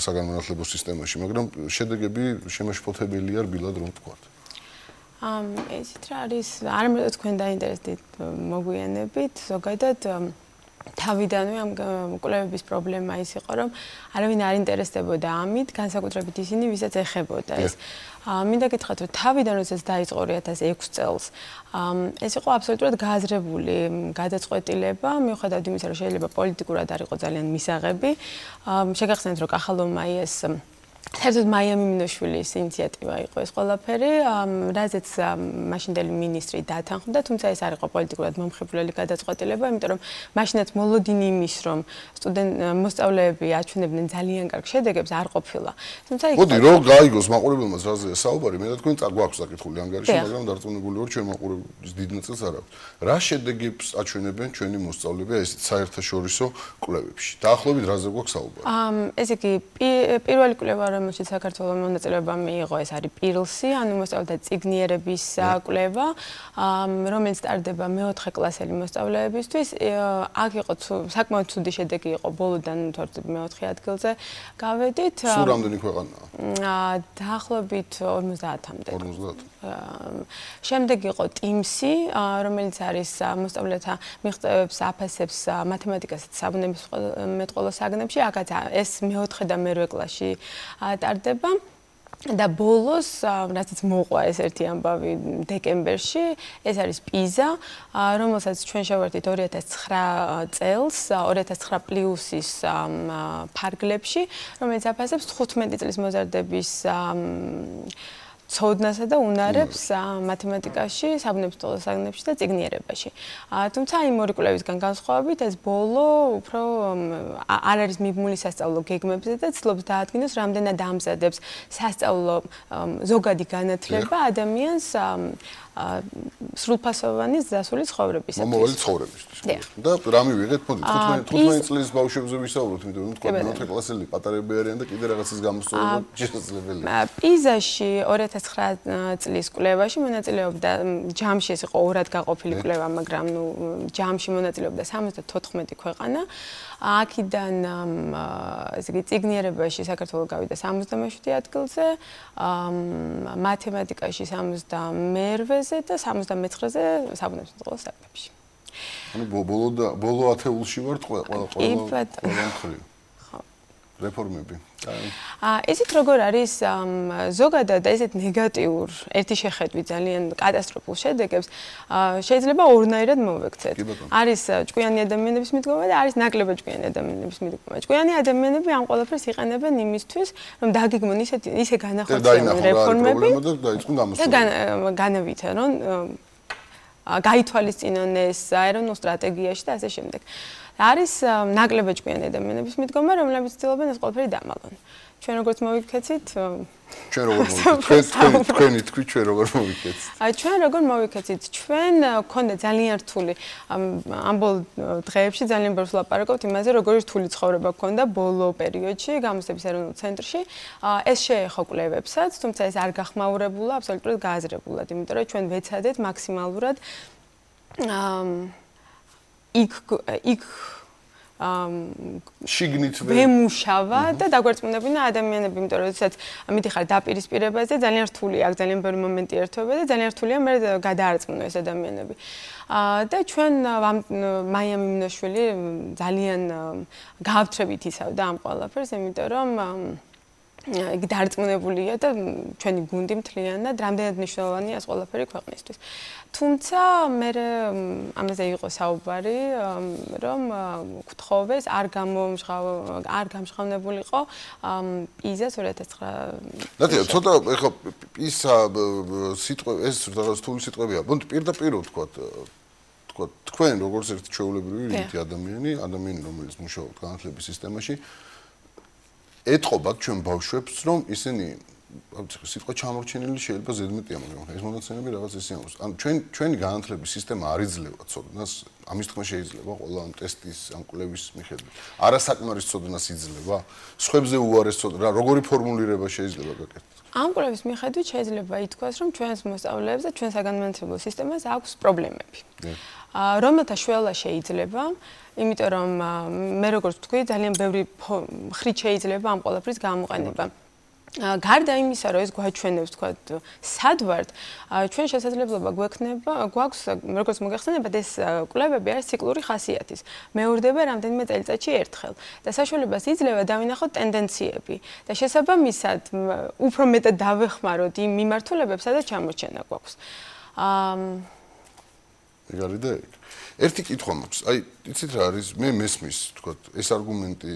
საგანმანათლებლო სისტემაში, მაგრამ შედეგები შემაშფოთებელია რბილად რომ ვთქვათ. ესეთ რა არის, არამედ თქვენ დაინტერესდით მოგვიანებით, ზოგადად თავიდანვე ამ კვლევების პრობლემა ის იყო, რომ არავინ არ ინტერესდებოდა ამით, განსაკუთრებით ისინი, ვისაც ეხებოდა ეს. მინდა გითხრათ, რომ თავიდან როდესაც დაიწყო 2006 წელს, ეს იყო აბსოლუტურად გააზრებული გადაწყვეტილება, მიუხედავად იმისა, რომ შეიძლება პოლიტიკურად არ იყო ძალიან მისაღები. შეგახსენეთ, რომ კახალოვმა ეს საერთოდ მაია მიმინოშვილის ინიციატივა იყო ეს ყველაფერი, რაზეც მაშინდელი მინისტრი დათანხმდა, თუმცა ეს არ იყო პოლიტიკურად მომხიბვლელი გადაწყვეტილება, იმიტომ რომ მაშინაც მოლოდინი იმის, რომ მოსწავლეები აჩვენებდნენ ძალიან კარგ შედეგებს, არ ყოფილა. თუმცა მოდი რომ გაიგოს მაყურებელმა რაზეა საუბარი, მე და თქვენ გვაქვს საკითხული ანგარიში, მაგრამ დარწმუნებული ვარ, ჩვენ მაყურებლის დიდ ნაწილს არ აქვს. რა შედეგებს აჩვენებენ ჩვენი მოსწავლეები ეს საერთაშორისო კვლევებში? დაახლოებით რაზე გვაქვს საუბარი? ესე იგი, პირველი კვლევა რომელშიც საქართველოს მონაწილეობა მიიღო, ეს არის PIRLS-ი, ანუ მოსწავლეთა წიგნიერების კვლევა, რომელიც ტარდება მეოთხე კლასელი მოსწავლეებისთვის. აქ იყო საკმაოდ ცუდი შედეგი იყო, ბოლოდან თორემ მეოთხე ადგილზე გავედით. სულ რამდენი ქვეყანაა? დაახლოებით 50-მდე. 50. შემდეგ იყო TIMSS-ი, რომელიც არის მოსწავლეთა მიღწევებს აფასებს მათემატიკასაც საბუნებისმეტყველო საგნებში, აქაც ეს მეოთხე და მერვე კლასში ტარდება და ბოლოს, რასაც მოყვა ეს ერთი ამბავი დეკემბერში, ეს არის PISA, რომელსაც ჩვენ შევერთით 2009 წელს, 2009 პლუსის ფარგლებში, რომელიც აფასებს 15 წლის მოზარდების ცოდნასა და უნარებს მათემატიკაში, საბუნებისმეტყველო საგნებში და წიგნიერებაში. თუმცა იმ ორი კვლევისგან განსხვავებით, ეს ბოლო უფრო არ არის მიბმული სასწავლო გეგმებზე და ცდილობს დაადგინოს, რამდენად ამზადებს სასწავლო ზოგადი განათლება ადამიანს სრულფასოვანი დასული ცხოვრებისათვის. მომავალი ცხოვრებისთვის. და რა მივიღეთ? მოდი 15 წლის ბავშვებზე ვისაუბროთ, იმიტომ რომ თქვა მეოთხე კლასელი პატარები არიან და კიდე რაღაცის გამოსწორება შესაძლებელია. PISA-ში 2009 წლის კვლევაში მონაწილეობდა ჯამში ეს იყო ორად გაყოფილი კვლევა, მაგრამ ჯამში მონაწილეობდა 74 ქვეყანა. აქედან ესე იგი წიგნიერებაში საქართველოს გავიდა 67 ადგილზე, მათემატიკაში 72-ზე და 79-ზე საბუნებისმეტყველო საგნებში. ანუ ბოლო ათეულში ვართ ყველა მხრივ. რეფორმები. ესეთ როგორ არის ზოგადად ესეთ ნეგატიურ ერთი შეხედვით ძალიან კატასტროფულ შედეგებს შეიძლება ორნაირად მოვექცეთ. არის ჭკვიანი ადამიანების მიდგომა და არის ნაკლებად ჭკვიანი ადამიანების მიდგომა. ჭკვიანი ადამიანები ამ ყველაფერს იყენებენ იმისთვის, რომ დაგეგმონ ისე განახორციელონ რეფორმები და განავითარონ გაითვალისწინონ ეს აერონულ სტრატეგიაში და ასე შემდეგ. არის ნაკლებად ჭკვიანი ადამიანების მიდგომა, რომლებიც ცდილობენ ეს ყველაფერი დამალონ. ჩვენ როგორც მოვიქეცით ჩვენ როგორ მოვიქეცით თქვენი თქვი ჩვენ როგორ მოვიქეცით ჩვენ როგორ მოვიქეცით ჩვენ გქონდა ძალიან რთული ამ ბოლო დღეებში ძალიან ბევრს ვლაპარაკობთ იმაზე როგორი რთული ცხოვრება გქონდა ბოლო პერიოდში გამოცდების ეროვნულ ცენტრში ეს შეეხო კვლევებსაც თუმცა ეს არ გახმაურებულა აბსოლუტურად გააზრებულად იმიტომ რომ ჩვენ ვეცადეთ მაქსიმალურად იქ შიგნით ვემუშავა და დაგვერწმუნებინა ადამიანები, იმიტომ რომ შესაძ მიდიხარ დაპირისპირებაზე, ძალიან რთული აქვს, ძალიან ბევრი მომენტი ერთვება და ძალიან რთულია მე გადაარწმუნო ეს ადამიანები. და ჩვენ მაია მიმინოშვილი ძალიან გააფთრებით იცავდა ამ ყველაფერს, იმიტომ რომ იგი დარწმუნებულია და ჩვენი გუნდი მთლიანად რამდენად მნიშვნელოვანია ეს ყველაფერი ქვეყნისთვის. თუმცა მე ამაზე იყო საუბარი, რომ გთხოვეს არ გამჟღავნებულიყო პიზას 2009. ნატია, ცოტა ეხლა პიზა სიტყვა ეს რაღაც თული სიტყვებია. ბუნდ პირდაპირ ვთქვათ, თქვენ როგორც ერთი ჩვეულებრივი რიგი ადამიანი, რომელიც მუშაობს განათლების სისტემაში ეთყობათ ჩვენ ბავშვებს, რომ ისინი სიტყვა ჩამორჩენილი შეიძლება ზედმეტია, მაგრამ ეს მონაცემები რაღაც ისე აქვს. ანუ ჩვენი განათლების სისტემა არ იძლევა ცოდნას, ამის თქმა შეიძლება ყველა ამ ტესტის, ამ კვლევის მიხედვით. არასაკმარის ცოდნას იძლევა, სხვებზე უარეს ცოდნა, როგორი ფორმულირება შეიძლება გაკეთდეს. ამ კვლევის მიხედვით შეიძლება ითქვას, რომ ჩვენს მოსწავლეებს და ჩვენ საგანმანათლებლო სისტემას აქვს პრობლემები. რომელთა შველა შეიძლება, იმიტომ რომ მე როგორც ვთქვი, ძალიან ბევრი ხრით შეიძლება ამ ყველაფრის გამოყენება. გარდა იმისა, რომ ეს გვაჩვენებს, თქვათ, სად ვართ, ჩვენ შესაძლებლობა გვაქვს, როგორც მოგეხსენებათ, ეს კვლევები არის ციკლური ხასიათის. მეორდება რამდენიმე წელიწადში ერთხელ და საშუალებას იძლევა დავინახოთ ტენდენციები და შესაბამისად უფრო მეტად დავეხმაროთ იმ მიმართულებებს, სადაც ჩამორჩენა გვაქვს. ეგარი და ეგ. ერთი კითხვა მაქვს. აი, იცით რა არის? მე მესმის, თქვათ, ეს არგუმენტი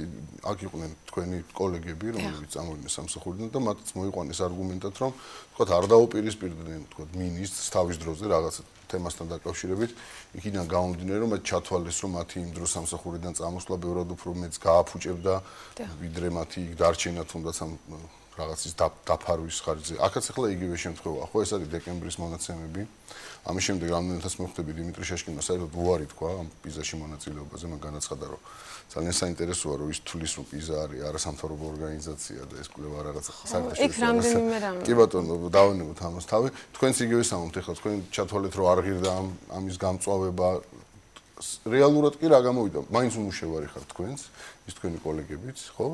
აქ იყვნენ თქვენი კოლეგები, რომლებიც წამოვიდნენ სამსახურიდან და მათაც მოიყვანეს არგუმენტად, რომ თქვათ, არ დაუპირისპირდნენ, თქვათ, მინისტრს თავის დროზე რაღაც თემასთან დაკავშირებით, იქიდან გამომდინარე, რომ მათ ჩათვალეს, რომ მათი იმ დროს სამსახურიდან წამოსვლა ბევრად უფრო მეც გააფუჭებდა, ვიდრე მათი დარჩენა თუნდაც ამ რაღაცის დაფარვის ხარჯზე. აქაც ახლა იგივე შემთხვევაა, ხო, ეს არის დეკემბრის მონაცემები. ამის შემდეგ რამდენადაც მოხვდები დიმიტრი შეშკინმა საერთოდ უარი თქვა ამ პიზაში მონაწილეობაზე, მან განაცხადა, რომ ძალიან საინტერესოა, რომ ის თulis რომ პიზა არის არასამთავრობო ორგანიზაცია და ეს კვლევა რაღაც საერთაშორისო. იქ რამდენიმე რამე. კი ბატონო, დავანებოთ ამას თავი. თქვენც იგივე სამომთ ახლა თქვენ ჩათვალეთ, რომ არ ღირდა ამის გამწვავება. რეალურად კი რა გამოვიდა? მაინც უმუშევარი ხართ თქვენც, ის თქვენი კოლეგებიც, ხო?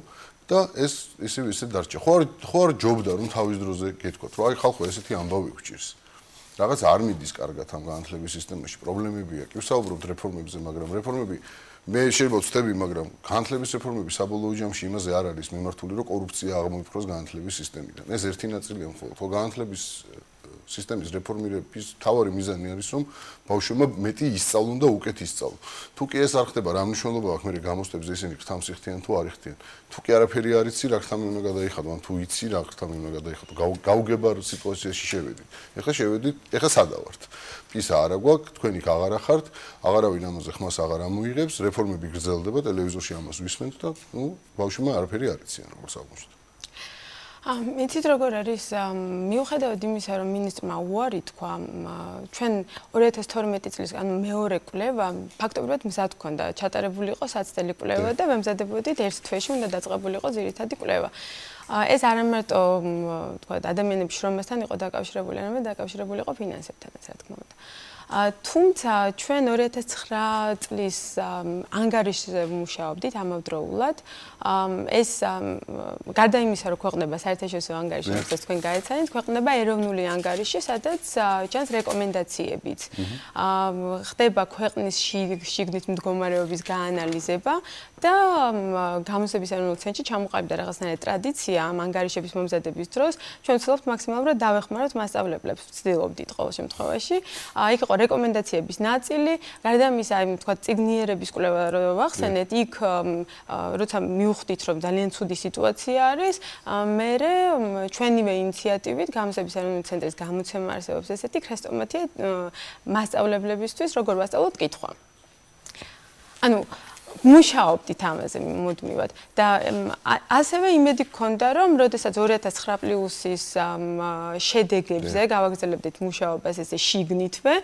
და ეს ისევ დარჩა. ხო არ ჯობდა რომ თავის დროზე გეთქვათ, რომ აი ხალხო ესეთი ამბავი გვჭირს. რაღაც არ მიდის კარგად ამ განათლების სისტემაში, პრობლემებია. კი ვსაუბრობთ რეფორმებზე, მაგრამ რეფორმები მე შეიძლება ვწდები, მაგრამ განათლების რეფორმები საბოლოო ჯამში იმაზე არ არის მიმართული, რომ კორუფცია აღმოიფროს განათლების სისტემიდან. ეს ერთი ნაწილია მხოლოდ. ხო, განათლების სისტემის რეფორმირების თავარი მიზანი არის, რომ ბავშვებმა მეტი ისწავლონ და უკეთ ისწავლონ. თუ კი ეს არ ხდება, რა მნიშვნელობა აქვს მე გამოსტებზე ისინი ხთამს იხდიან თუ არ იხდიან. თუ კი არაფერი არ იცი, რა ხთამი უნდა გადაიხადო, ან თუ იცი, რა ხთამი უნდა გადაიხადო. გაუგებარ სიტუაციაში შევედით. ეხლა შევედით, ეხლა სადა ვართ? პისა არა გვაქვს, თქვენ იქ აღარა ხართ, აღარავინ ამაზე ხმას აღარ ამოიღებს, რეფორმები გრძელდება, ტელევიზორში ამას ვისმენთ და ნუ ბავშვებმა არაფერი არ იციან, როგორც აღმოჩნდა. იცით როგორ არის მიუხედავად იმისა რომ მინისტრმა უარი თქვა ჩვენ 2012 წლის ანუ მეორე კვლევა ფაქტობრივად მზად გქონდა ჩატარებული იყო საცდელი კვლევა და მემზადებოდით ერთ თვეში უნდა დაწყებული იყო ძირითადი კვლევა ეს არ ამარტო თქვა ადამიანების შრომასთან იყო დაკავშირებული არამედ დაკავშირებული იყო ფინანსებთანაც რა თქმა უნდა თუმცა ჩვენ 2009 წლის ანგარიშზე მუშაობდით ამავდროულად ეს გარდა იმისა რომ ქვეყნება საერთაშორისო ანგარიში რომელსაც თქვენ გაეცანით ქვეყნება ეროვნული ანგარიში სადაც ჩანს რეკომენდაციებიც ხდება ქვეყნის შიგნით მდგომარეობის გაანალიზება და გამოცდების ეროვნულ ცენტრში ჩამოყალიბდა რაღაცნაირი ტრადიცია ამ ანგარიშების მომზადების დროს ჩვენ ვცდილობთ მაქსიმალურად დავეხმაროთ მასწავლებლებს ვცდილობდით ყოველ შემთხვევაში იქ იყო რეკომენდაციების ნაწილი გარდა ამისა თქვა წიგნიერების კვლევა რო ვახსენეთ იქ როცა მივხვდით რომ ძალიან ცუდი სიტუაცია არის მე ჩვენივე ინიციატივით გამოცდების ეროვნული ცენტრის გამოცემა არსებობს ესეთი ქრესტომათია მასწავლებლებისთვის როგორ ვასწავლოთ კითხვა ანუ მუშაობდით ამაზე მუდმივად და ასევე იმედი გქონდა რომ როდესაც 2009 პლუსის შედეგებზე გავაგრძელებდით მუშაობას ესე შიგნითვე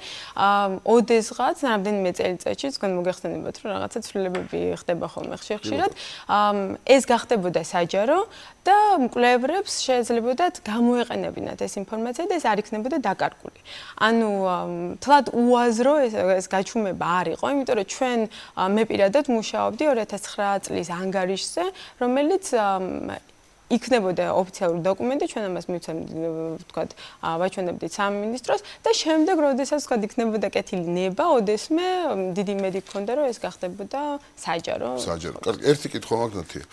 ოდესღაც რამდენიმე წელიწადში თქვენ მოგეხსენებათ რომ რაღაცა ცვლილებები ხდება ხოლმე ხშირად ეს გახდებოდა საჯარო და მკვლევრებს შეეძლებოდათ გამოეყენებინათ ეს ინფორმაცია და ეს არ იქნებოდა დაკარგული. ანუ თლად უაზრო ეს გაჩუმება არ იყო, იმიტომ რომ ჩვენ მე პირადად მუშაობდი 2009 წლის ანგარიშზე, რომელიც იქნებოდა ოფიციალური დოკუმენტი, ჩვენ ამას მივცემდით, ვთქვათ, ვაჩვენებდით სამინისტროს და შემდეგ, როდესაც ვთქვათ, იქნებოდა კეთილი ნება, ოდესმე დიდი იმედი გქონდა, რომ ეს გახდებოდა საჯარო. საჯარო. კარგი, ერთი კითხვა მაგნათია.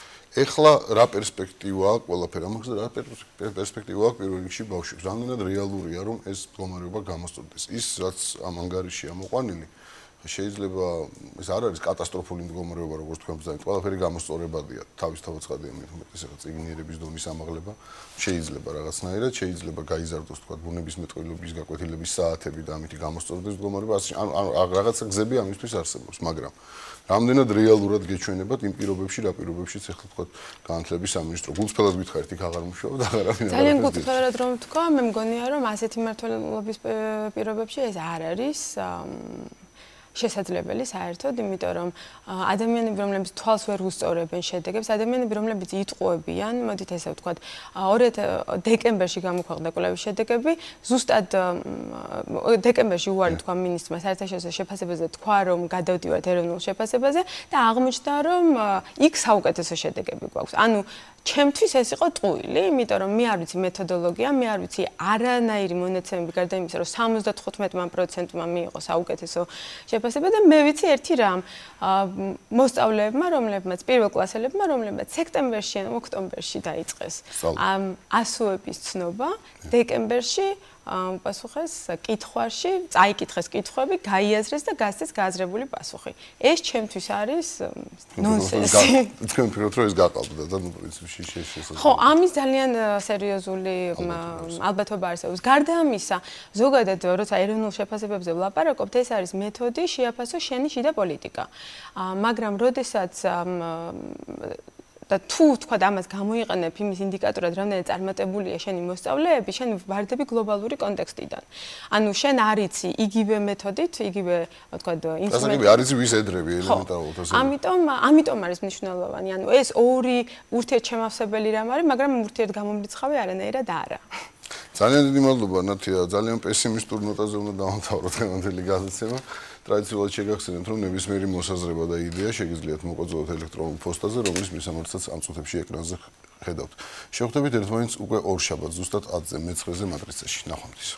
ეხლა რა პერსპექტივა აქვს ყველაფერ ამაზე, რა პერსპექტივა აქვს პირველ რიგში ბავშვებს? რამდენად რეალურია, რომ ეს მდგომარეობა გამოსწორდეს? ის, რაც ამ ანგარიშია მოყვანილი, შეიძლება ეს არ არის კატასტროფული მდგომარეობა, როგორც თქვენ ბრძანეთ, ყველაფერი გამოსწორებადია, თავისთავად ცხადია, უმეტეს ახლა წიგნიერების დონის ამაღლება შეიძლება რაღაცნაირად, შეიძლება გაიზარდოს, თქვა, ბუნებისმეტყველების გაკვეთილების საათები და ამით გამოსწორდეს მდგომარეობა, ანუ რაღაცა გზები ამისთვის არსებობს, მაგრამ რამდენად რეალურად გეჩვენებათ იმ პირობებში, რა პირობებშიც ახლა თქვა განათლების სამინისტრო გულწრფელად გითხარით, იქ აღარ მუშაობ და აღარავინ არ ძალიან გულწრფელად რომ თქვა, მე მგონია რომ ასეთი მმართველობის პირობებში ეს არ არის შესაძლებელი საერთოდ, იმიტომ რომ ადამიანები, რომლებიც თვალს ვერ უსწორებენ შედეგებს, ადამიანები, რომლებიც იტყუებიან, მოდით ესე ვთქვათ, 2 დეკემბერში გამოქვეყნდა კვლევის შედეგები, ზუსტად დეკემბერში უარი თქვა მინისტრმა საერთაშორისო შეფასებაზე, თქვა რომ გადავდივართ ეროვნულ შეფასებაზე და აღმოჩნდა რომ იქ საუკეთესო შედეგები გვაქვს. ანუ ჩემთვის ეს იყო ტყუილი, იმიტომ რომ მე არ ვიცი მეთოდოლოგია, მე არ ვიცი არანაირი მონაცემები გარდა იმისა, რომ 75%-მა მიიღო საუკეთესო შეფასება და მე ვიცი ერთი რამ, მოსწავლეებმა, რომლებმაც პირველ კლასელებმა, რომლებმაც სექტემბერში ან ოქტომბერში დაიწყეს ასოების ცნობა, დეკემბერში პასუხეს კითხვაში, წაიკითხეს კითხვები, გაიაზრეს და გასცეს გააზრებული პასუხი. ეს ჩემთვის არის ნონსენსი. თქვენ ვფიქრობთ, რომ ეს გაყალბდა და ნუ პრინციპში შესაძლოა. ხო, ამის ძალიან სერიოზული ალბათობა არსებობს. გარდა ამისა, ზოგადად, როცა ეროვნულ შეფასებებზე ვლაპარაკობთ, ეს არის მეთოდი შეაფასო შენი შიდა პოლიტიკა. მაგრამ როდესაც და თუ თქვა ამას გამოიყენებ იმის ინდიკატორად, რამდენად წარმატებულია შენი მოსწავლეები, შენ ვარდები გლობალური კონტექსტიდან. ანუ შენ არ იცი იგივე მეთოდით, იგივე თქვა ინსტრუმენტით. არ იცი ვის ედრები ელემენტარულად ასე. ამიტომ არის მნიშვნელოვანი. ანუ ეს ორი ურთიერთშემავსებელი რამ არის, მაგრამ ურთიერთგამომრიცხავი არანაირად არა. ძალიან დიდი მადლობა ნათია, ძალიან პესიმისტურ ნოტაზე უნდა დავამთავროთ დღევანდელი გადაცემა. ტრადიციულად შეგახსენებთ, რომ ნებისმიერი მოსაზრება და იდეა შეგიძლიათ მოგვაწოდოთ ელექტრონულ პოსტაზე, რომლის მისამართსაც ამ წუთებში ეკრანზე ხედავთ. შევხვდებით ერთმანეთს უკვე ორ შაბათს, ზუსტად 10-ზე, მე-9-ზე მატრიცაში. ნახვამდის.